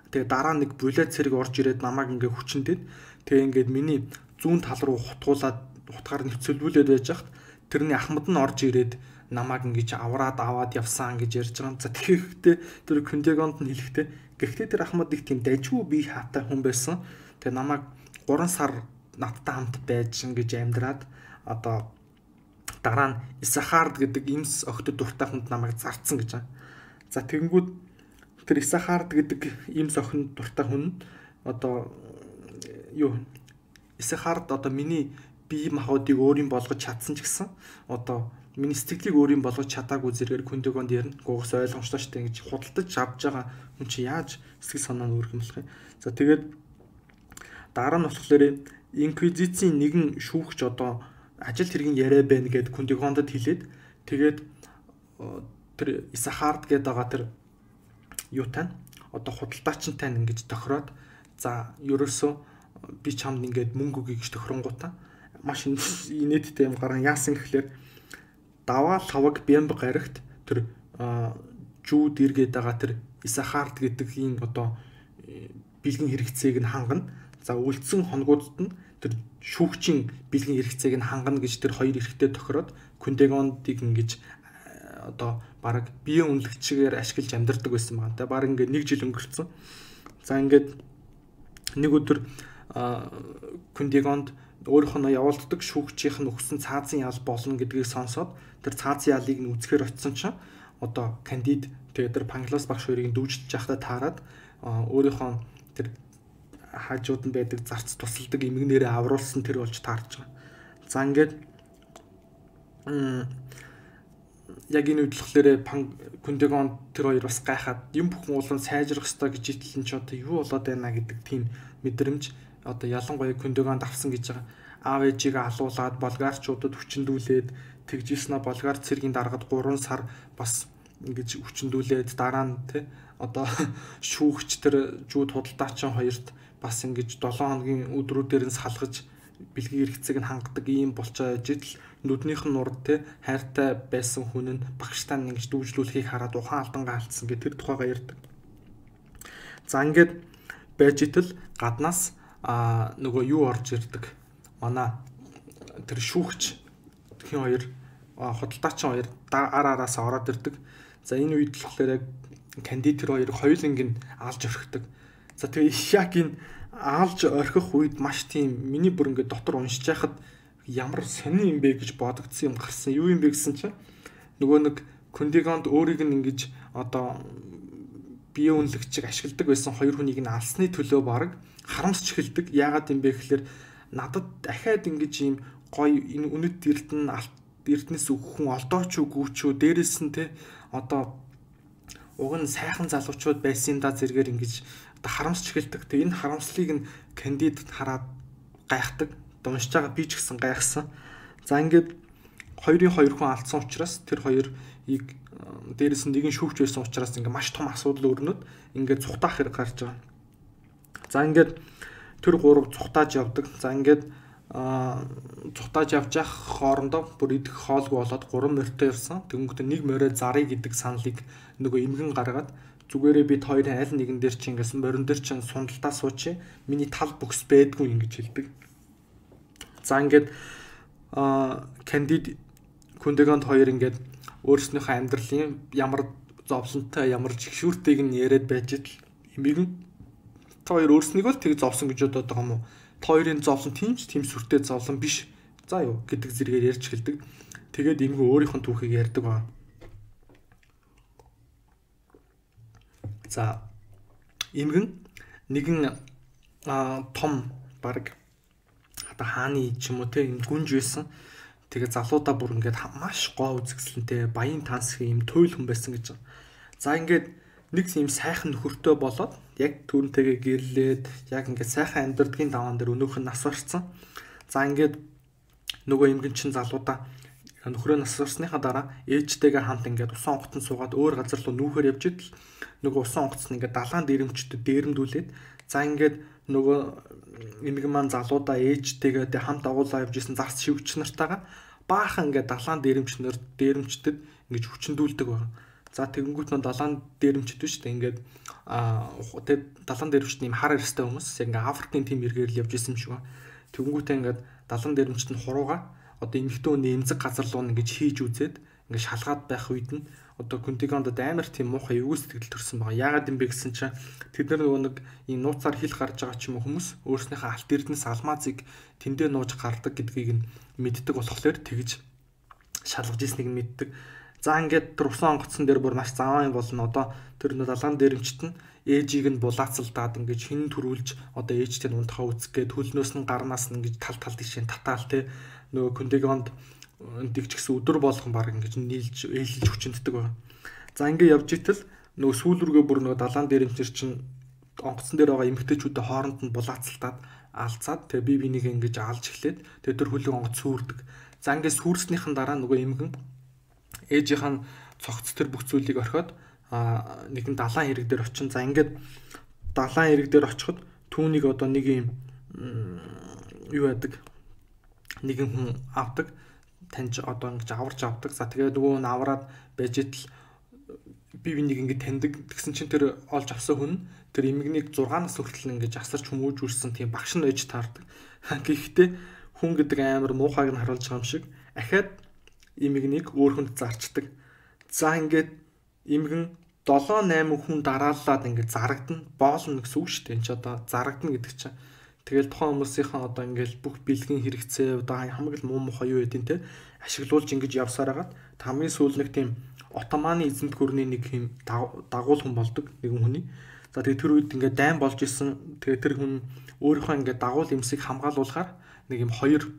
Тэгээ дараа нэг булет цэрэг орж ирээд намайг ингээ хүчндэд тэгээ ингээд миний зүүн тал руу хутгаар нэвцэлүүлээд байж хат тэрний ахмад нь орж ирээд намайг ингэж аваад явсан гэж ярьж байгаа. За тэгэхдээ тэр Күндэгонд нь хэлэхдээ гэхдээ тэр ахмад их тийм дажгүй бие хаатай хүн байсан. Тэгээ намайг 3 сар надтай хамт байж ингэж амьдраад одоо дараа нь Исахард гэдэг имс охид дуртай хүнд намайг зарцсан гэж байна. За тэгэнгүүт тэр Исахард гэдэг имс охин дуртай хүн одоо Исахард одоо миний бие махбодыг өөрийн болгож чадсан ч гэсэн одоо миний сэтгэлийг өөрийн болгож чадаагүй зэрэг Күндэгонд ярина. Гуйгаас ойлгомжтой шүү дээ гэж худалдаж авч байгаа хүн чи яаж сэтгэл санаа нь өөрөх юм болох юм. За тэгээд дараа нь болохоор инквизицийн нэгэн шүүгч одоо ажил хэргийн яриа байна гэд Күндэгондод хэлээд тэгээд тэр Исахард гэдэг байгаа тэр юутай одоо худалдаачинтай ингэж тохироод за ерөөсөө би чамд ингээд мөнгө өгье гэж тохиронгуудаа маш инээдтэй юм гарan яасан гэхлээр даваа лаваг бямб гарагт тэр жүүд иргээд байгаа тэр Исахард гэдэг ийм одоо бэлгийн хэрэгцээг нь хангана. За үлдсэн хоногудад нь тэр шүүгчийн бэлгийн хэрэгцээг нь хангана гэж тэр хоёр эрэгтэй тохироод Күндэгондыг ингэж одоо баг бие үнэлэгчээр ашиглаж амьдардаг байсан байна. Тэгээ баг ингээд 1 жил өнгөрцөн. За ингээд нэг өдөр Күндэгонд өөрийнхөө явуулдаг шүүгчийнх нь өгсөн цаазын ял болно гэдгийг сонсоод тэр цаазын ялыг нь үзэхээр очисон чинь одоо Кандид тэгээд тэр Панглос багш хоёрыг дүүжилж байхдаа таарад өөрийнхөө тэр хажууд нь байдаг зарц тусалдаг эмгэнээрээ авруулсан тэр болж таарч байгаа. За ингээд яг энэ үед болохоор Күндэгонд тэр хоёр бас гайхаад юм бүхэн улам сайжрах ёстой гэж итлэн ч одоо юу болоод байна гэдэг тийм мэдрэмж одоо ялангуяа Күндэгонд авсан гэж байгаа. Аав ээжийг алуулаад болгарчуудад хүчндүүлээд тэгжсэн болгар цэргийн даргад 3 сар бас ингэж хүчндүүлээд дараа нь тий одоо шүүгч тэр жүүд худалдаачин хоёрт бас ингэж 7 хоногийн өдрүүдээр нь салгаж бэлгийн хэрэгцээг нь хангадаг ийм болчоо яж итл нүднийх нь нурд тий хайртай байсан хүн нь багштай ингэж дүүжлүүлэхийг хараад ухаан алдангаа алдсан гэх тэр тухайгаа ярьдаг. За ингээд байж итл гаднаас нөгөө юу орж ирдэг. Манай тэр шүүгч тхэн хоёр худалдаачин хоёр араас ороод ирдэг. За энэ үед л болохоор яг Кандид тэр хоёр хоёуланг нь алж орхидог. За тэгээ яг энэ алж орхих үед маш тийм миний бүр ингээд дотор уншиж байхад ямар сони юм бэ гэж бодогдсон юм гарсан. Юу юм бэ гэсэн чинь нөгөө нэг Күндэгонд өөрийг нь ингэж одоо бие үнэлэгчийг ашигладаг байсан хоёр хүнийг нь алсны төлөө баг харамсч эхэлдэг. Яагаад юм бэ гэхээр надад дахиад ингэж ийм гоё энэ үнэт эрдэнэс хүн олдооч үгүй ч дээрээс нь те одоо уг нь сайхан залуучууд байсан юм да зэрэгээр ингэж одоо харамсч эхэлдэг. Тэгээ энэ харамслыг нь кандид хараад гайхдаг. Уншиж байгаа би ч гэсэн гайхсан. За ингээд хоёр хүн алдсан учраас тэр хоёрыг дээрээс нь нэг нь шүүгч байсан учраас ингээд маш том асуудал өрнөд ингээд цухтаах хэрэг гарч байгаа. За ингээд тэр гурав цухтааж явдаг. За ингээд цухтааж явж явах хоорондоо бүр идэх хоолгүй болоод 3 морьтой ирсэн. Тэгэнгүүт нэг морой зарыг гэдэг саналыг нөгөө эмгэн гаргаад зүгээрээ бид хоёрын аль нэгэн дээр чи ингээс морин дээр чинь сундалтаа суучи миний тал бүкс байдгүй ингэж хэлдэг. За ингээд кандид Күндэгонд хоёр ингээд өөрснийхөө амьдралын ямар зовлонтой ямар жигшүүртэйг нь яриад байж итл эмгэн та хоёр өөрснийгөө л тэг зовсон гэж бодоод байгаа юм уу? Та хоёрын зовлон тийм сүртэй зовлон биш. За юу гэдэг зэрэгээр ярьж эхэлдэг. Тэгээд эмгэн өөрийнх нь түүхийг ярьдаг ба. За эмгэн нэгэн том баг одоо хааны ч юм уу те юм гүнж байсан. Тэгээ залуудаа бүр ингээд маш гоо үзэсгэлэнтэй баян тансгийн юм туйл хүн байсан гэж. За ингээд нэг юм сайхан нөхөртэй болоод яг түүнтэйгээ гэрлээд яг ингээд сайхан амьдрдгийн даваан дээр өнөөх нь нас барцсан. За ингээд нөгөө эмгэн чин залуудаа нөхрөө нас барсныхаа дараа ээжтэйгээ хамт ингээд усан онгоцон суугаад өөр газар руу нүүхээр явж идэл нөгөө усан онгоцон ингээд далайн дээрэмчдэд дээрэмдүүлээд за ингээд нөгөө эмгэн маань залуудаа ээжтэйгээ хамт агуулаа явж исэн зарц шивгч нартайгаа баахан ингээд далайн дээрэмчдэд ингэж хүчндүүлдэг байна. За тэгэнгүүт нь далайн дээрэмчд биш үү ингээд тэг далайн дээрэмчд юм хар эрстэй хүмүүс яг ингээд Африкийн тим эргээр л явж исэн юм шиг байна. Тэгэнгүүтээ ингээд далайн дээрэмчд нь хурууга одоо эмэгтэй хүний эмзэг газар руу ингэж хийж үзээд ингээд шалгаад байх үед нь одоо Күндэгонд амар тийм муухай эвгүй сэтгэл төрсэн байгаа. Яагаад юм бэ гэсэн чинь тэд нар нөгөө нэг энэ нууцаар хил гарч байгаа ч юм уу хүмүүс өөрснийхөө алт эрдэнэс алмазыг тэндээ нууж гардаг гэдгийг нь мэддэг болохоор тэгж шалгаж ирснийг нь мэддэг. За ингээд тэр усан онгоцсон дээр бүр маш заваа юм болно. Одоо тэр далайн дээрэмчт нь ээжийг нь булаацалдаад ингээд хин төрүүлж одоо ээжтэй нь унтахаа үцгээд хөлнөөс нь гарнаас нь ингээд тал тишээ татаал те нөгөө Күндэгонд дэгч гэсэн өдөр болгон баг ингэж нийлж ээлж хүчнэддэг байна. За ингэ явж итэл нөгөө сүүл рүүгээ бүр нөгөө далайн дээрэмчэр чинь онгоцсон дээр байгаа эмгтээчүүдээ хооронд нь булаацалтаад алцаад тэгээ бие бинийг ингэж алж эхлээд тэгээ тэр хөлөг онгоц сүрдэг. За ингэ сүрснийхэн дараа нөгөө эмгэн ээжийнх нь цогц тэр бүх зүйлийг орхиод нэгэн далайн хэрэг дээр очин. За ингээд далайн хэрэг дээр очиход түүнийг одоо нэг юм юу яадаг нэгэн хүн авдаг таньж одоо ингэж аварч авдаг. За тэгээ нөгөө нь авраад байж итл би бинийг ингэ таньдаг. Тэгсэн чинь тэр олж авсан хүн тэр эмгэнийг 6-наас хүртэл ингэж асарч хүмүүж үрсэн тийм багш нь ээж таардаг. Гэхдээ хүн гэдэг амар муухайг нь харуулж байгаа юм шиг ахаад эмгэнийг өөр хүнд зарчдаг. За ингээд эмгэн 7-8 хүн дарааллаад ингээд зарагдана. Боолно гэсэн үг шүү дээ. Энд ч одоо зарагдана гэдэг чинь тэгэл тухайн хүмүүсийнхэн одоо ингээл бүх бэлгийн хэрэгцээ одоо хамгийн муу мухай юу байдیں۔ Те ашиглуулж ингэж явсаар хагаад хамгийн сүүл нэг тийм Отоманы эзэнт гүрний нэг юм дагуул хүн болдог нэгэн хүний. За тэгээ тэр үед ингээд дайн болж исэн. Тэгээ тэр хүн өөрийнхөө ингээд дагуул эмсийг хамгаалуулахаар нэг юм хоёр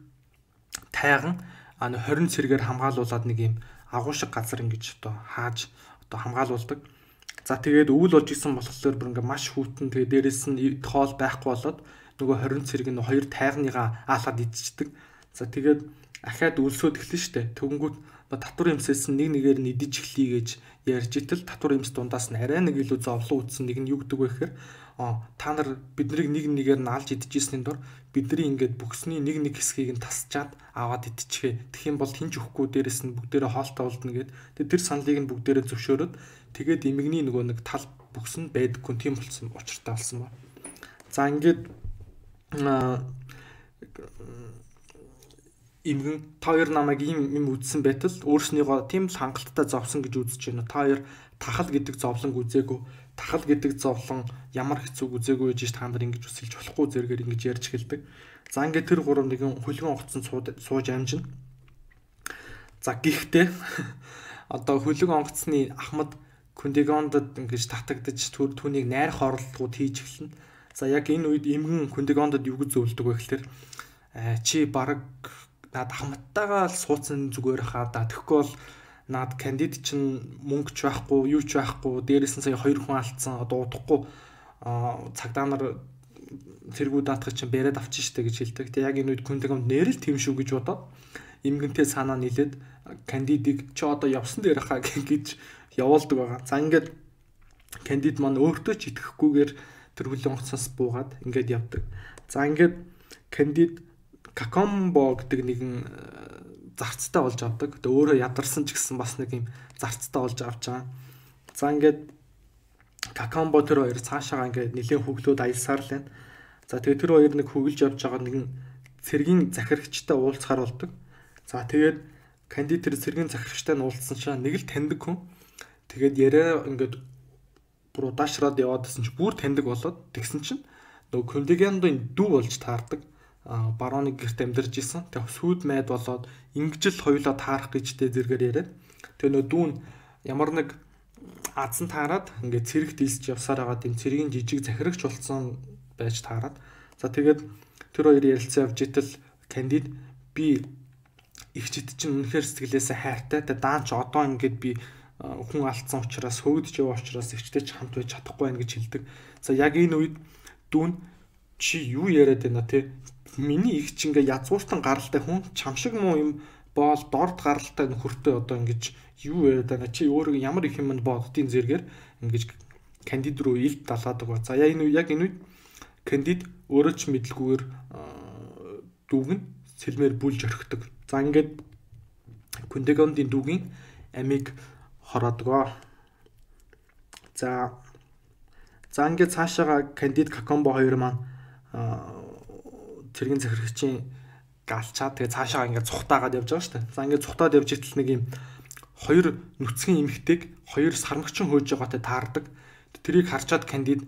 тайган 20 цэргээр хамгаалуулад нэг юм агуу шиг газар ингэж одоо хааж одоо хамгаалуулдаг. За тэгээд өвөл болж исэн болохоор бүр ингээд маш хүүтэн тэгээ дээрэс нь хоол байхгүй болоод нөгөө 20 цэрэг нь хоёр тайганыгаа аалаад идчихдэг. За тэгээд ахаад өлсөд эхлэн штэ. Тэгэнгүүт татвар эмсээс нэг нэгээр нь идэж эхлэе гэж ярьж итэл татвар эмс дундаас нь арай нэг илүү зовлон үтсэн нэг нь юу гэдэг вэ гэхээр та нар биднийг нэг нэгээр нь алж идчихсэний дор бидний ингээд бүхсний нэг хэсгийг нь тасчаад аваад идчихээ. Тэгэх юм бол хинч өгөхгүй дээрэс нь бүгдээрээ хоолтой болдно гэд. Тэгээд тэр саналыг нь бүгдээрээ зөвшөөрөөд тэгээд эмгний нөгөө нэг тал бүкс нь байдаггүй тийм болсон учиртай болсон ба. За ингээд эмгэн та хоёр намайг юм үзсэн байтал өөрснийгөө тийм л хангалттай зовсон гэж үзэж байна. Та хоёр тахал гэдэг зовлон үзээгүй. Тахал гэдэг зовлон ямар хэцүү үзээгүй гэж та нар ингэж үсэлж болохгүй зэрэгээр ингэж ярьж эхэлдэг. За ингээд тэр гурав нэгэн хөлгөн онгоцсон сууж амжина. За гэхдээ одоо хөлгөн онгоцны Ахмад Күндэгонд ингэж татагдаж түүнийг найрах оролдлогууд хийж эхэлнэ. За яг энэ үед эмгэн Күндэгонд юу гэж зөвлөдөг вэ гэхээр чи баг наад хамттайгаа л суудсан зүгээр хаа да. Тэгэхгүй бол наад кандид чинь мөнгө ч байхгүй, юу ч байхгүй. Дээрээс нь сая 2 хүн алдсан. Одоо удахгүй цагдаа нар цэргүүд даатгах чинь бэрээд авчих штэ гэж хэлдэг. Тэг яг энэ үед Күнтэгэмд нэрэл тийм шүү гэж бодоод эмгэнтэй санаа нийлээд кандидыг чи одоо явсан дээр хаа гэж явуулдаг байгаа. За ингээд кандид маань өөртөө ч итгэхгүйгээр тэр хүлэн онгоцоос буугаад ингээд явдаг. За ингээд кандид Какомбо гэдэг нэгэн зарцтай болж авдаг. Тэгээ өөрөө ядарсан ч гэсэн бас нэг юм зарцтай болж авч байгаа. За ингээд Какомбо тэр хоёр цаашаа ингээд нэлийн хөглөөд аялсаар л байна. За тэгээ тэр хоёр нэг хөглж явж байгаа нэгэн цэргийн захирагчтай уулзахаар болдог. За тэгээд кандид тэр цэргийн захирагчтай нь уулзсан чинь нэг л таньдаг хүн. Тэгээд яриа ингээд бүр удаашраад яваадсэн чинь бүр таньдаг болоод тэгсэн чинь нөгөө Күнтэгэмдийн дүү болж таардаг. Барууны гэрт амьдарч исэн. Тэгээ сүйд майд болоод ингэж л хоёулаа таарах гэжтэй зэрэгээр яриад. Тэгээ нөгөө дүүн ямар нэг азан таарад ингээд цэрэг дийлсэж явсаар байгаа тийм цэргийн жижиг захирагч болсон байж таарад. За тэгээд тэр хоёр ярилцсан явж итэл кандид би ихчид чинь үнэхээр сэтгэлээсээ хайртай. Тэгээ даан ч одоо ингээд би хүн алдсан учраас хөвгдөж яваа учраас ихчтэй ч хамт байж чадахгүй байх гэж хэлдэг. За яг энэ үед дүүн чи юу яриад байна те? Миний их ч ингээ язгууртан гаралтай хүн чам шиг муу юм боол дорд гаралтай нөхөртэй одоо ингэж юу яриад байна чи өөрөө ямар их юм боддгийн зэрэгээр ингэж кандид руу илт далаадаг ба. За яг энэ үед кандид өөрөө ч мэдлгүйгээр дүүг нь сэлмээр бүлж орхидог. За ингээд Күнтэгэмдийн дүүгийн амийг хороодог. За ингээд цаашаага кандид Какомбо хоёр маань цэргийн захирагчийн галчаад тэгээ цаашаа ингээд цухтаагаад явж байгаа шүү дээ. За ингээд цухтаад явж итэл нэг юм хоёр нүцгэн эмэгтэйг хоёр сармагчин хөөж байгаатай таардаг. Тэрийг харчаад кандид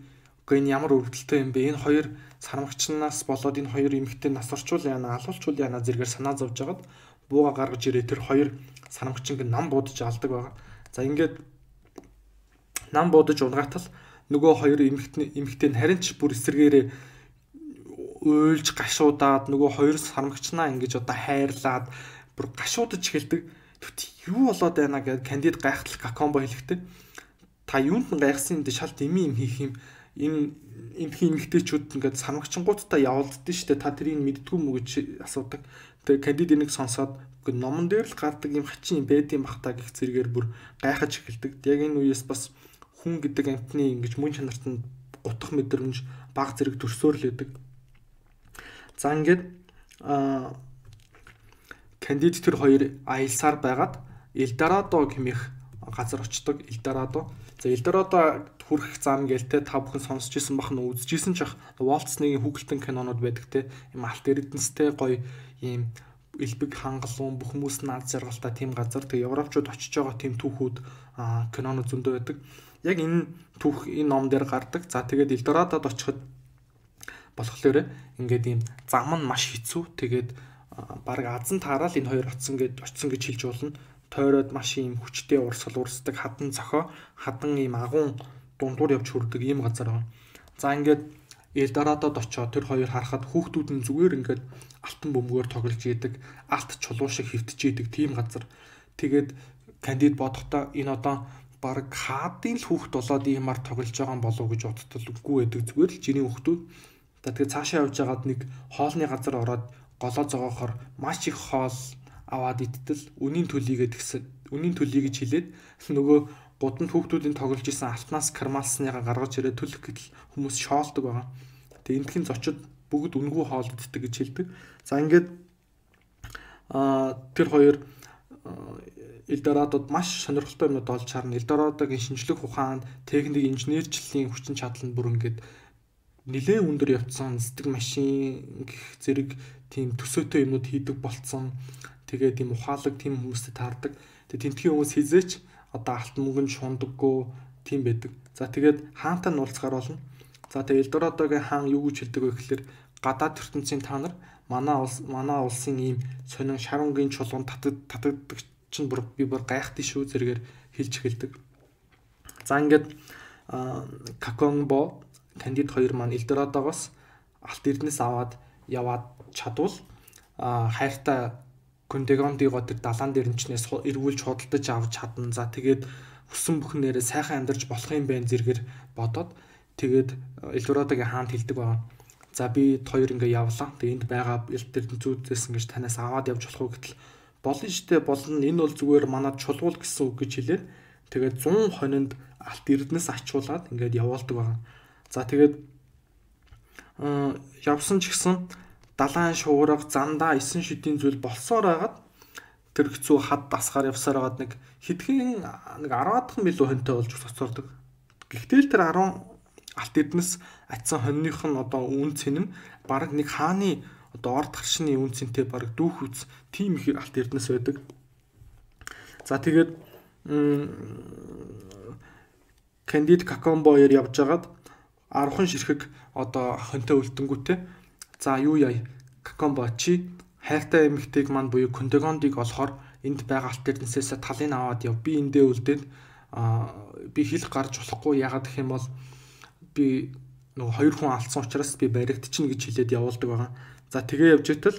үгүй энэ ямар өвдөлттэй юм бэ? Энэ хоёр сармагчнаас болоод энэ хоёр эмэгтэй нас орчуул яана, алуулчуул яана зэрэгээр санаа зовж агаад бууга гаргаж ирээ тэр хоёр сармагчин нам буудаж алдаг байгаа. За ингээд нам буудаж унгатал нөгөө хоёр эмэгтэй харин ч бүр эсэргээрээ уйлж гашуудаад нөгөө хоёр сармагчнаа ингэж одоо хайрлаад бүр гашуудаж эхэлдэг. Юу болоод байна гэд кандид гайхтал Какомбо хэлэхдээ та юунд нь гайхсан юм дэ шал дими юм хийх юм энэ эмхий эмэгтэйчүүд ингээд сармагчингуудтай явуулдсан шүү дээ та тэрийг мэддгүй мүү гэж асуудаг. Тэгээ кандид энийг сонсоод номон дээр л гардаг юм хачин юм байд юм бах та гэх зэрэгээр бүр гайхаж эхэлдэг. Яг энэ үеэс бас хүн гэдэг амтны ингэж мөн чанарт нь гутах мэдрэмж баг зэрэг төрсөөр л байдаг. За ингээд кандид тэр хоёр аялсаар байгаад Элдорадо гэмэх газар очдог. Элдорадо. За Элдорадо хүрэх зам гэлтэй та бүхэн сонсч ирсэн бах нь үзчихсэн ч ах Walt Disney-ийн хүүхэлдэйн кинонууд байдаг те. Им алт эрдэнэстэй гоё ийм элбэг хангалуун бүх хүмүүс наад жаргалтай тийм газар. Тэгээ европчууд очиж байгаа тийм түүхүүд кинонууд зөндөө байдаг. Яг энэ түүх энэ ном дээр гардаг. За тэгээд Элдорадод очиход болохоор ингээд ийм зам нь маш хэцүү. Тэгээд баг азан таарал энэ хоёр очсон гэж хэлж болно. Тойроод маш ийм хүчтэй урсгал урсдаг хадан цохоо хадан ийм агуун дундуур явж хүрдэг ийм газар байна. За ингээд Элдорадод очоод тэр хоёр харахад хүүхдүүд нь зүгээр ингээд алтан бөмбөгөөр тоглож идэг, алт чулуу шиг хэвтэж идэг тийм газар. Тэгээд кандид бодохдоо энэ одоо баг хаадын л хүүхд болоод иймар тоглож байгаа юм болов уу гэж бодтол үгүй байдаг. Зүгээр л жирийн хүүхдүүд. Тэгээд цаашаа явж байгаад нэг хоолны газар ороод голоо зогоохоор маш их хоол аваад идтэл үнийн төлийгээ тэгсэн. Үнийн төлөй гэж хэлээд нөгөө гудамд хүүхдүүдийн тоглож исэн алтнаас кармалсныгаа гаргаж ирээд төлөх гэтэл хүмүүс шоолдог байгаа. Тэгээ эндхийн зочид бүгд үнгүй хоол иддэг гэж хэлдэг. За ингээд тэр хоёр Элдорадод маш сонирхолтой юмнууд олж харна. Элдорадогийн шинжлэх ухаан, техник, инженерчлэлийн хүчин чадал нь бүр ингээд нэлээд өндөр явцсан нисдэг машин гэх зэрэг тийм төсөөтэй юмнууд хийдэг болцсон. Тэгээд тийм ухаалаг тийм хүмүүстэй таардаг. Тэгээд тентхийн хүмүүс хизээч одоо алтан мөнгөнд шундаггүй тийм байдаг. За тэгээд хаантай нь уулзгаар болно. За тэгээд Элдорадогийн хаан юу гэж хэлдэг вэ гэхээр гадаад ертөнцийн та нар манай улсын ийм сонин шарунгийн чулуун татдаг чинь би бүр гайхдаг шүү зэрэгээр хэлж эхэлдэг. За ингээд Какомбо кандид хоёр маань Элдорадогоос алт эрдэнэс аваад яваад чадвал хайртай Кондегондиго тэр далаан дээр нчнээс эргүүлж худалдаж авч чадна. За тэгээд хүссэн бүхнээрээ сайхан амьдарч болох юм байна зэрэгээр бодоод тэгээд Эльдорадогийн хаанд хэлдэг байгаа. За би хоёр ингээ явлаа. Тэгээд энд байгаа эрдэмтдүүдээс ингэж танаас аваад явж болох уу гэтэл болно штэ болно. Энэ бол зүгээр манад чулуул гэсэн үг гэж хэлээд тэгээд 100 хонинд алт эрдэнэс ачуулаад ингээд явуулдаг байгаа. За тэгээд явсан ч гэсэн далайн шуурга зандаа 9 шидийн зүйл болсоор хагаад тэр хэцүү хад дасгаар явсаар хагаад нэг хэдхэн нэг 10-аад милүү хонтой болж цоцолдог. Гэхдээ л тэр 10 алт эрдэнэс атсан хоньных нь одоо үн цэн нь баг нэг хааны одоо орд харшны үн цэнтэй баг дүүх үз тийм их алт эрдэнэс байдаг. За тэгээд Кандид Какомбоёр явж агаад 10хан ширхэг одоо хонтой үлдэнгүүтээ за юу яа Какомбо чи хайртай эмэгтэйг маань буюу Кондегондиг олохоор энд байгаа алт эрдэнэсээс талын аваад яв. Би эндээ үлдээд би хэлэх гарч болохгүй ягаад гэх юм бол би нөгөө хоёр хүн алдсан учраас би баригдчихна гэж хэлээд явуулдаг байгаа. За тэгээ явж итэл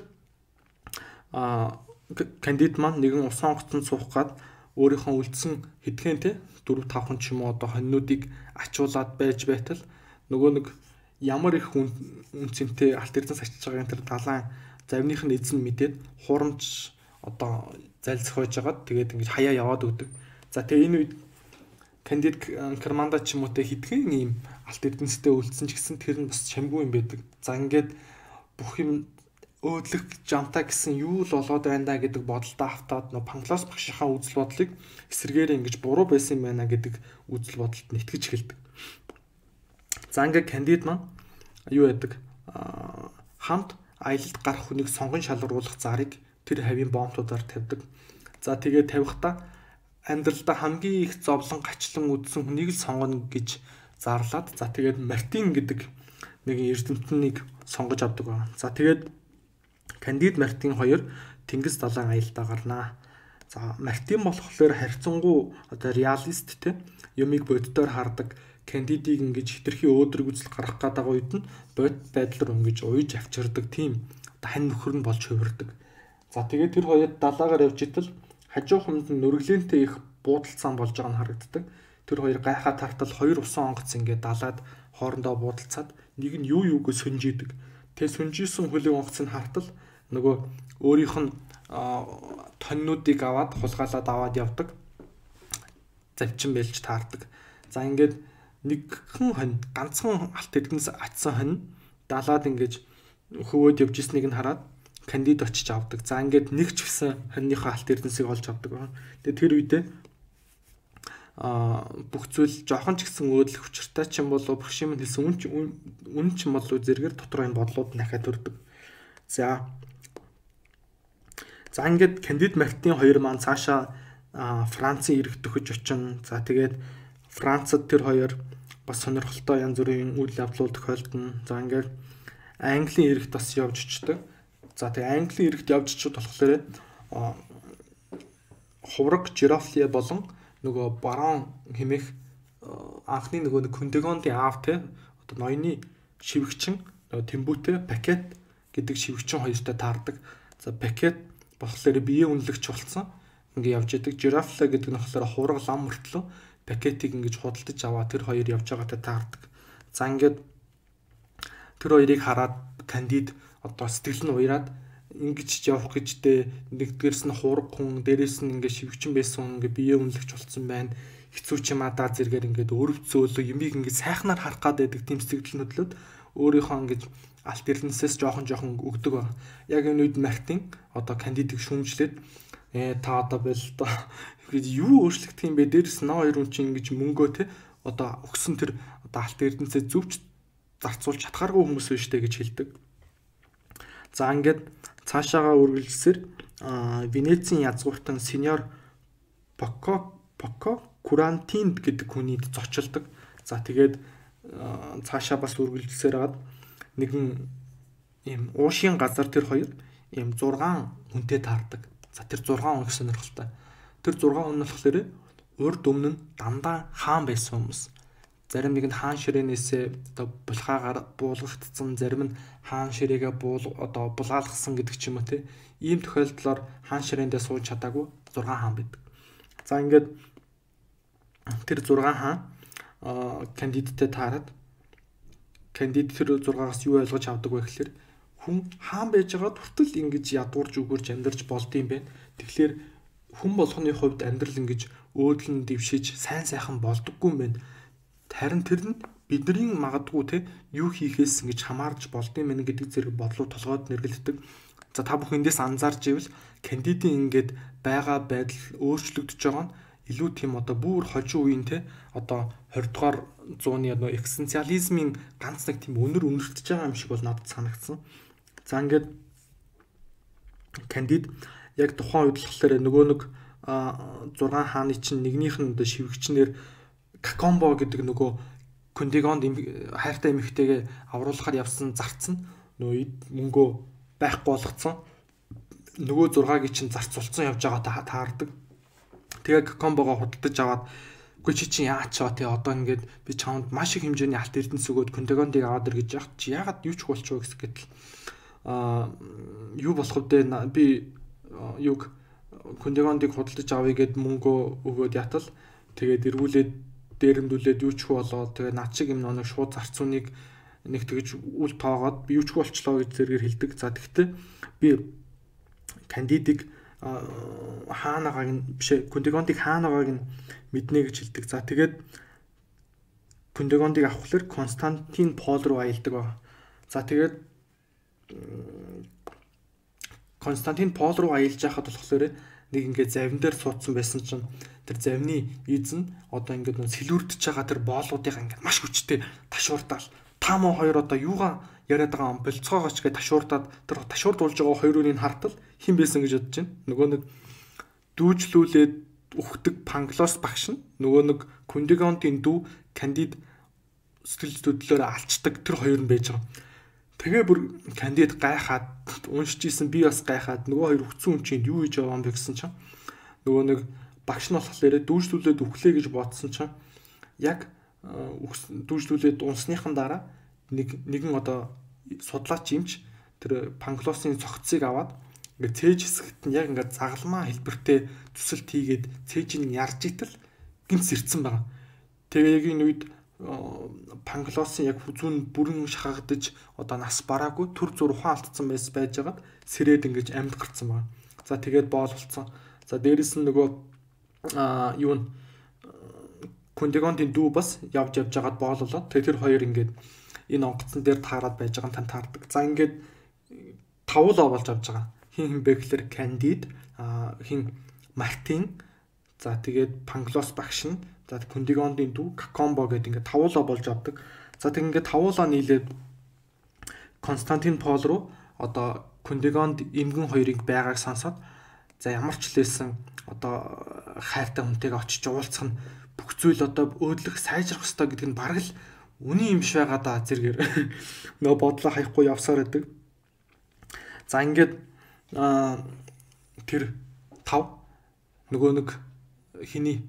Кандид маань нэгэн усан онгоцонд суух гад өөрийнхөө үлдсэн хэдхэн те 4-5 хүн ч юм уу одоо хоньнуудыг ачуулаад байж байтал нөгөө нэг ямар их үнцэнтэй алт эрдэнэс ачиж байгааг тэр далайн завных нь эзэн мэдээд хурамч одоо залзах байж байгаад тэгээд ингэж хаяа яваад өгдөг. За тэгээ энэ үед Кандид Керманда ч юм уу те хэдхэн ийм алт эрдэнэстэй үлдсэн ч гэсэн тэр нь бас шамгүй юм байдаг. За ингээд бүх юм өөдлөх жамтаа гэсэн юу л болоод байна да гэдэг бодолтой автаад нөө Панклос багшийнхаа үзэл бодлыг эсэргээр ингэж буруу байсан юм байна гэдэг үзэл бодолд нь итгэж эхэлдэг. За ингээд Кандид маань юу яадаг хамт аялалд гарах хүнийг сонгон шалгаруулах зарыг тэр хавийн бомбуудаар тавьдаг. За тэгээд тавихтаа амьдралдаа хамгийн их зовлон гачлан үдсэн хүнийг л сонгоно гэж зарлаад за тэгээд Мартин гэдэг нэгэн эрдэмтнийг сонгож авдаг байна. За тэгээд Кандид Мартин хоёр тэнгис далайн аялдаа гарнаа. За Мартин болохоор харьцангуй одоо реалист те юмыг боддоор хардаг. Кандидийг ингэж хитрхи өөдрөг үзэл гарах гэдэг үед нь бод байдлаар ингэж уйж авчирдаг тийм хань нөхөр нь болж хувирдаг. За тэгээд тэр хоёр далаагаар явж итэл хажууханд нь нүргэлэнтэй их буудалцаан болж байгаа нь харагддаг. Тэр хоёр гайхаа тартал хоёр усан онгоц ингээд далаад хоорондоо буудалцаад нэг нь юу юуг сүнжидэг. Тэгээ сүнжижсэн хөлөг онгоц нь хартал нөгөө өөрийнх нь тоннуудыг аваад хулгайлаад аваад явдаг. Завчин бэлж таардаг. За ингээд нэгхэн хонь ганцхан алт эрдэнэс атсан хонь далаад ингэж хөвөөд явж ирснийг нь хараад Кандид очиж авдаг. За ингээд нэг ч гэсэн хоньныхоо алт эрдэнэсийг олж авдаг байна. Тэгээ тэр үедээ бүх зүйл жоохон ч гэсэн өөдлөх учиртай ч юм болов бэрхшэм хэлсэн үн ч юм болов зэрэгээр дотроо энэ бодлууд дахиад төрдөг. За ингээд Кандид Мартин хоёр маань цаашаа Францын ирэх төхөж очино. За тэгээд Францад тэр хоёр бас сонирхолтой янз бүрийн үйл явдлууд тохиолдно. За ингээд Английн иргэд бас явж очдог. За тэгээд Английн иргэд явж очиод болохоор хувраг Жирафле болон нөгөө барон хэмээх анхны нөгөө Кондегондын аав те одоо ноёны шивгчин Тэмбүүтэй Пакет гэдэг шивгчин хоёртой таардаг. За Пакет болохоор бие үнэлэгч болсон. Ингээ явж идэг. Жирафле гэдэг нь болохоор хувраг лам мөртлөө Пакетийг ингэж худалдаж аваа тэр хоёр явж байгаатай таардаг. За ингээд тэр хоёрыг хараад Кандид одоо сэтгэл нь уяраад ингэж явах гэжтэй нэгдгээрс нь хураг хүн дээрээс нь ингээ шивгчин байсан хүн ингээ бие үнэлэгч болсон байна. Хэцүү ч юм адаа зэрэгээр ингээд өрөвцөөлөө юмыг ингээ сайхнаар харах гад байдаг тийм сэтгэл хөдлөлд өөрийнхөө ингэж алт эрдэнэсээс жоохон өгдөг байна. Яг энэ үед Мартин одоо Кандидыг шүүмжлээд та одоо бэл одоо гэж юу өөрчлөгдөх юм бэ? Дээрээс нь хоёр хүн чинь ингэж мөнгөө те одоо өгсөн тэр одоо алт эрдэнэсээ зөвч зарцуулж чадхааргүй хүмүүс биш үү гэж хэлдэг. За ингээд цаашаагаа үргэлжлэсээр Венецийн язгууртан сеньор Поко Курантинд гэдэг хүнийд зочилдог. За тэгээд цаашаа бас үргэлжлэсээр хагаад нэгэн ийм уушийн газар тэр хоёр ийм 6 хүнтэй таардаг. За тэр 6 хүн их сонирхолтой. Тэр 6 хүн нь болохоор урд өмнө нь дандаа хаан байсан хүмүүс. зарим нэг нь хаан ширээнээсээ одоо булхаагаар буулгагдсан, зарим нь хаан ширээгээ булгаалгасан гэдэг ч юм уу те. Ийм тохиолдлоор хаан ширээндээ сууж чадаагүй 6 хаан байдаг. За ингээд тэр 6 хаан кандидаттэй таарад кандидат тэр 6-аас юу ойлгож авдаг вэ гэхээр хүн хаан байж байгаад хүртэл ингэж ядуурж өгөрж амьдарч болдсон юм байна. Тэгэхээр хүн болгоны хувьд амьдрал ингэж өөдлөн дэвшиж сайн сайхан болдоггүй юм байна. Харин тэр нь бидний магадгүй те юу хийхээс ингэж хамаарч болдсон юм байна гэдэг зэрэг бодлоо толгойд нэргэлддэг. За та бүхэн эндээс анзаарч ивэл кандидийн ингээд байгаа байдал өөрчлөгдөж байгаа нь илүү тийм одоо бүр хожим үеийн те одоо 20 дугаар зууны экзистенциализмын ганц нэг тийм өнөр өнөртөж байгаа юм шиг бол надад санагдсан. За ингээд кандид яг тухайн үед болохоор нөгөө нэг 6 хааны чинь нэгнийх нь одоо шивгчнэр Какомбо гэдэг нөгөө Кундигонд хайртай эмэгтэйгээ авруулахаар явсан зарцсан нөгөө мөнгөө байхгүй болгоцсон. Нөгөө 6-гийн чинь зарцуулсан явж байгаа таардаг. Тэгээ Какомбогоо худалдаж аваад үгүй чи чинь яач чаа те одоо ингээд би чамд маш их хэмжээний алт эрдэнэс өгөөд Кундигондыг аваад ир гэж яах чи яагаад юу ч болчихоо гэсгэтэл юу болох вэ би юг Кундигондыг худалдаж авъя гэд мөнгөө өгөөд ятал тэгээд эргүүлээд дээрэмдүүлээд юу ч болоод тэгээ над шиг юм нэг шууд зарцууныг нэг тэгж үл тоогоод би юу ч болчлоо гэж зэрэгээр хэлдэг. За тэгтээ би кандидыг хаанагааг нь биш Кундигондыг хаанагааг нь мэднэ гэж хэлдэг. За тэгээд Кундигондыг авахлаар Константин Пол руу аялдаг байна. За тэгээд Константин Пол руу аялж байхад болохоор нэг ингээд завин дээр суудсан байсан чинь тэр завны эзэн одоо ингээд сэлүүрдэж байгаа тэр боолуудыг ингээд маш хүчтэй ташуурдаал та мөн хоёр одоо юугаа яриад байгаа юм болцоогооч гэж ташуурдаад тэр ташуурдуулж байгаа хоёр үнийг хартал хэн байсан гэж бодож байна. Нөгөө нэг дүүжлүүлээд өгдөг Панглос багш нь нөгөө нэг Кундигондын дүү кандид сэтгэл хөдлөлөөр алчдаг тэр хоёр нь байж байгаа. Тэгээ бүр кандид гайхаад уншиж исэн би бас гайхаад нөгөө хоёр өгцөн хүн чинь юу хийж байгаа юм бэ гэсэн чинь нөгөө нэг багш нь болохоор дүүжлүүлээд өглөө гэж бодсон чинь яг дүүжлүүлээд унсныхан дараа нэгэн одоо судлаач юмч тэр Панглосын цогцыг аваад ингээд цээж хэсэгт нь яг ингээд загалмаа хэлбэртэй төсөлт хийгээд цээж нь ярж итэл гинц ирцэн байгаа. Тэгээ яг энэ үед Панглосын яг зүүн бүрэн шахагдаж одоо нас бараагүй төр зур ухаан алдсан байж байгаад сэрээд ингэж амьд гарцсан байна. За тэгээд боол болцсон. За дээрэс нь нөгөө юу н Кундигондын дүү бас явж байгаад боололоо. Тэр хоёр ингээд энэ онгоцон дээр таарад байж байгаа тань таардаг. За ингээд тавуулаа болж авж байгаа. Хин бэ гэхэлэр кандид хин Мартин за тэгээд Панглос багш нь за Кундигондын дүү Какомбо гэдэг ингээд тавуулаа болж авдаг. За тэг ингээд тавуулаа нийлээд Константин Пол руу одоо Кундигонд эмгэн хоёрыг байгааг сонсоод за ямар ч лээсэн одоо хайртай хүнтэйгээ очиж уулзах нь бүх зүйл одоо өөдлөх сайжрах хэрэгтэй гэдэг нь бараг л үний юм биш байгаа да зэргээр нөө бодлоо хаяхгүй явсаар байдаг. За ингээд тэр тав нөгөө нэг хиний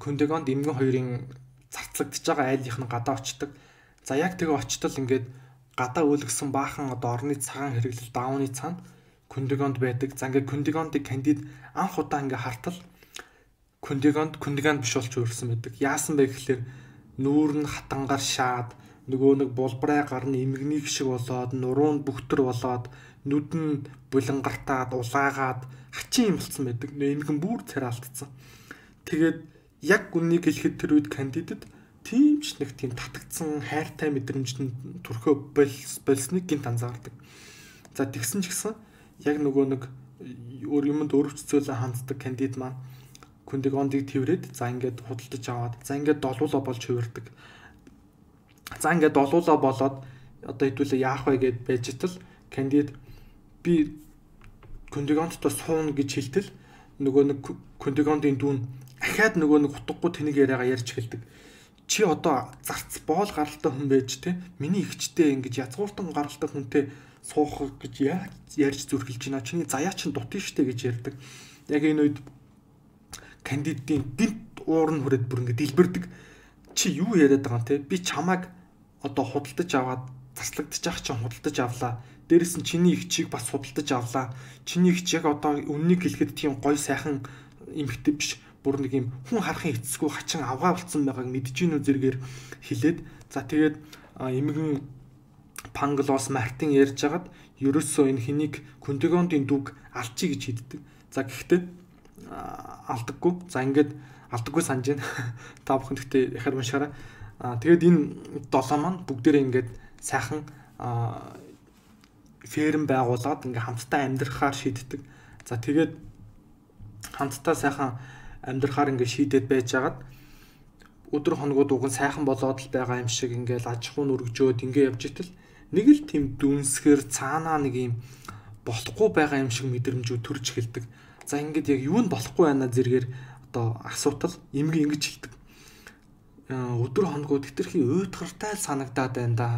Кундигонд эмгэн хоёрын зарцлагдж байгаа айлынх нь гадаа очдог. За яг тэгээ очтол ингээд гадаа өөлгсөн баахан одоо орны цагаан хэрэглэл даавны цаана Кундигонд байдаг. За ингээд Кундигондыг кандид анх удаа ингээд хартал Кундигонд биш болж өөрсөн байдаг. Яасан бэ гэхэлэр нүүр нь хатангаар шаад нөгөө нэг булбараа гарны эмгэнийг шиг болоод нуруунд бүхтэр болоод нүд нь булангартаад улаагаад хачин юм болсон байдаг. Эмгэн бүр царай алдсан. Тэгээд яг үнийг хэлэхэд тэр үед кандидат тийм ч нэг тийм татагдсан хайртай мэдрэмжтэй төрхөө болсныг гинт анзаардаг. За тэгсэн ч гэсэн яг нөгөө нэг юмд өрөвцөлөө ханддаг кандид маань Кундигондыг тэрвэрэд за ингээд худалдаж аваад за ингээд долуулаа болж хувирдаг. За ингээд долуулаа болоод одоо хэдүүлээ яах вэ гэд байж тал кандид би Кундигондтой сууна гэж хэлтэл нөгөө нэг Кундигондын дүүн ахаад нөгөө нэг утгагүй тэнийг яриагаа ярьж эхэлдэг. Чи одоо зарц боол гаралтай хүн байж те миний ихчтэй ингэж язгууртан гаралтай хүнтэй суух гэж ярьж зүрхэлж байна. Чиний заяа чин дутын штэ гэж ярьдаг. Яг энэ үед кандидийн гинт уур нь хүрээд бүр ингэ дэлбэрдэг. чи юу яриад байгаа юм те? Би чамайг одоо худалдаж аваад заслагдчих ах чинь худалдаж авлаа. Дээрээс нь чиний их чиг бас худалдаж авлаа. Чиний их яг одоо үннийг хэлэхэд тийм гой сайхан эмхтэй биш. Бүр нэг юм хүн харахын эцэсгүй хачин авгаа болцсон байгааг мэдэж гинүү зэрэгээр хэлээд за тэгээд эмгэн Панглос Мартин ярьж хагаад ерөөсөө энэ хэнийг Кундигондын дүг алчи гэж хэлдэг. За гэхдээ алдаггүй. За ингээд алдаггүй санаж байна. Та бүхэн гэхдээ яхаар уншаарай. Тэгээд энэ 7 маань бүгдээрээ ингээд сайхан ферм байгуулад ингээд хамтдаа амьдрахаар шийддэг. За тэгээд хамтдаа сайхан амьдрахаар ингээд шийдээд байж хагаад өдөр хоногуд уг нь сайхан болоод л байгаа юм шиг ингээд аж ахуй нүргжөөд ингээд явж итэл нэг л тийм дүнсгэр цаанаа нэг юм болохгүй байгаа юм шиг мэдрэмжүүд төрж эхэлдэг. За ингээд яг юу нь болохгүй байна зэрэгээр одоо асуудал эмгэн ингэж хэлдэг. Өдөр хоногуд хэтэрхий уйтгартай л санагдаад байна да.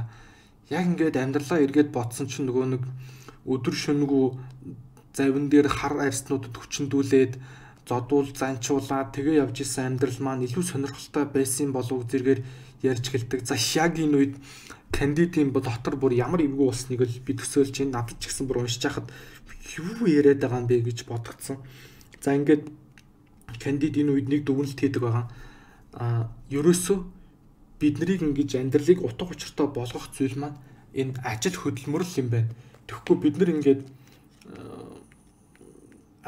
Яг ингээд амьдралаа эргээд бодсон чинь нөгөө нэг өдөр шөнөгүй завин дээр хар арьснуудад хүчндүүлээд зодуул занчуулаад тэгээ явж исэн амьдрал маань илүү сонирхолтой байсан болов зэрэгээр ярьж гэлдэг. За яг энэ үед кандидийн дотор бүр ямар эвгүй болсныг л би төсөөлж байна. Надад ч гэсэн бүр уншиж хахад юу яриад байгаа юм бэ гэж бодгцсон. За ингээд кандид энэ үед нэг дүгнэлт хийдэг байгаа. Ерөөсөө бид нарыг ингэж амьдралыг утга учиртай болгох зүйл маань энэ ажил хөдөлмөрлөл юм байна. Тэгэхгүй бид нар ингээд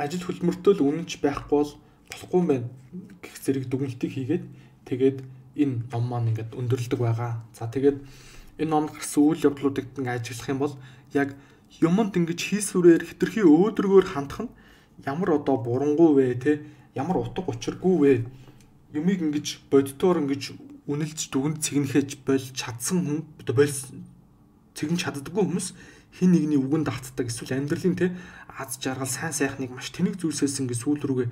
ажил хөдөлмөртөө л үнэнч байхгүй бол болохгүй юм байна гэх зэрэг дүгнэлтийг хийгээд тэгээд энэ ном маань ингээд өндөрлөдөг байгаа. За тэгээд энэ номд гарсан үйл явдлуудыг ингээд ажиглах юм бол яг юмд ингэж хийсвэрээр хэтэрхий өөдрөгөөр хандах нь ямар одоо бурангуй вэ те ямар утга учиргүй вэ юмыг ингэж боддоор ингэж үнэлж дүгнэлт цэгнэхэж болж чадсан хүн цэгнэж чаддаггүй хүмүүс хин нэгний үгэнд автдаг эсвэл амьдралын те аз жаргал сайн сайхныг маш тэнэг зүйлсээс ингэ сүүл рүүгээ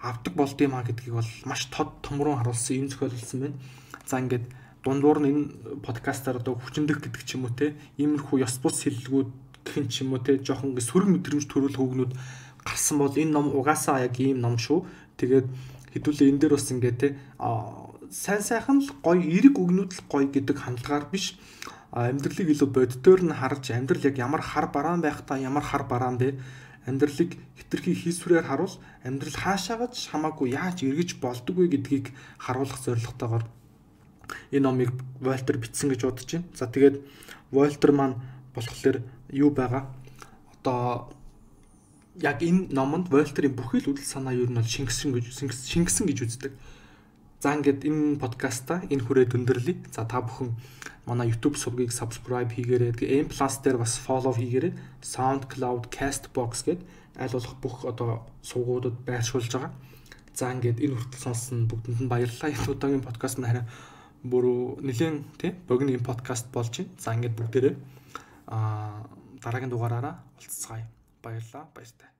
авдаг болд юм а гэдгийг бол маш тод томрон харуулсан юм зохиолсон байна. За ингээд дундуур нь энэ подкастаар одоо хүчндэх гэдэг ч юм уу те иймэрхүү ёс бус хэллэгүүд гэх юм ч юм уу те жоохон ингэ сөрөг мэдрэмж төрүүлэх үгнүүд гарсан бол энэ ном угаасаа яг ийм ном шүү. Тэгээд хэдүүлээ энэ дээр бас ингэ те сайн сайхан л гоё эрэг үгнүүд л гоё гэдэг хандлагаар биш амьдралыг илүү боддоор нь харж амьдрал яг ямар хар бараан байх та ямар хар бараан бэ амьдралыг хэтэрхий хийсвэрээр харуул амьдрал хаашаагач хамаагүй яаж эргэж болдоггүй гэдгийг харуулах зорилготойгоор энэ номыг Вольтер бичсэн гэж бодож байна. За тэгээд Вольтер маань болохоор юу байгаа одоо яг энэ номонд Вольтерийн бүхий л үдэл санаа юу нь бол шингэсэн гэж үздэг. За ингээд энэ подкаста энэ хүрээд өндөрлөе. За та бүхэн манай YouTube сувгийг subscribe хийгээрэй. Тэгээ M+ дээр бас follow хийгээрэй. SoundCloud, Castbox гээд аль болох бүх одоо сувгуудад байршуулж байгаа. За ингээд энэ хүртэл сонссон бүгдэнд нь баярлалаа. Энэ удаагийн подкаст нь харин бүр нэлээд тий богино юм подкаст болж байна. За ингээд бүгдээрээ дараагийн дугаараараа уулзцгаая. Баярлалаа. Баяртай.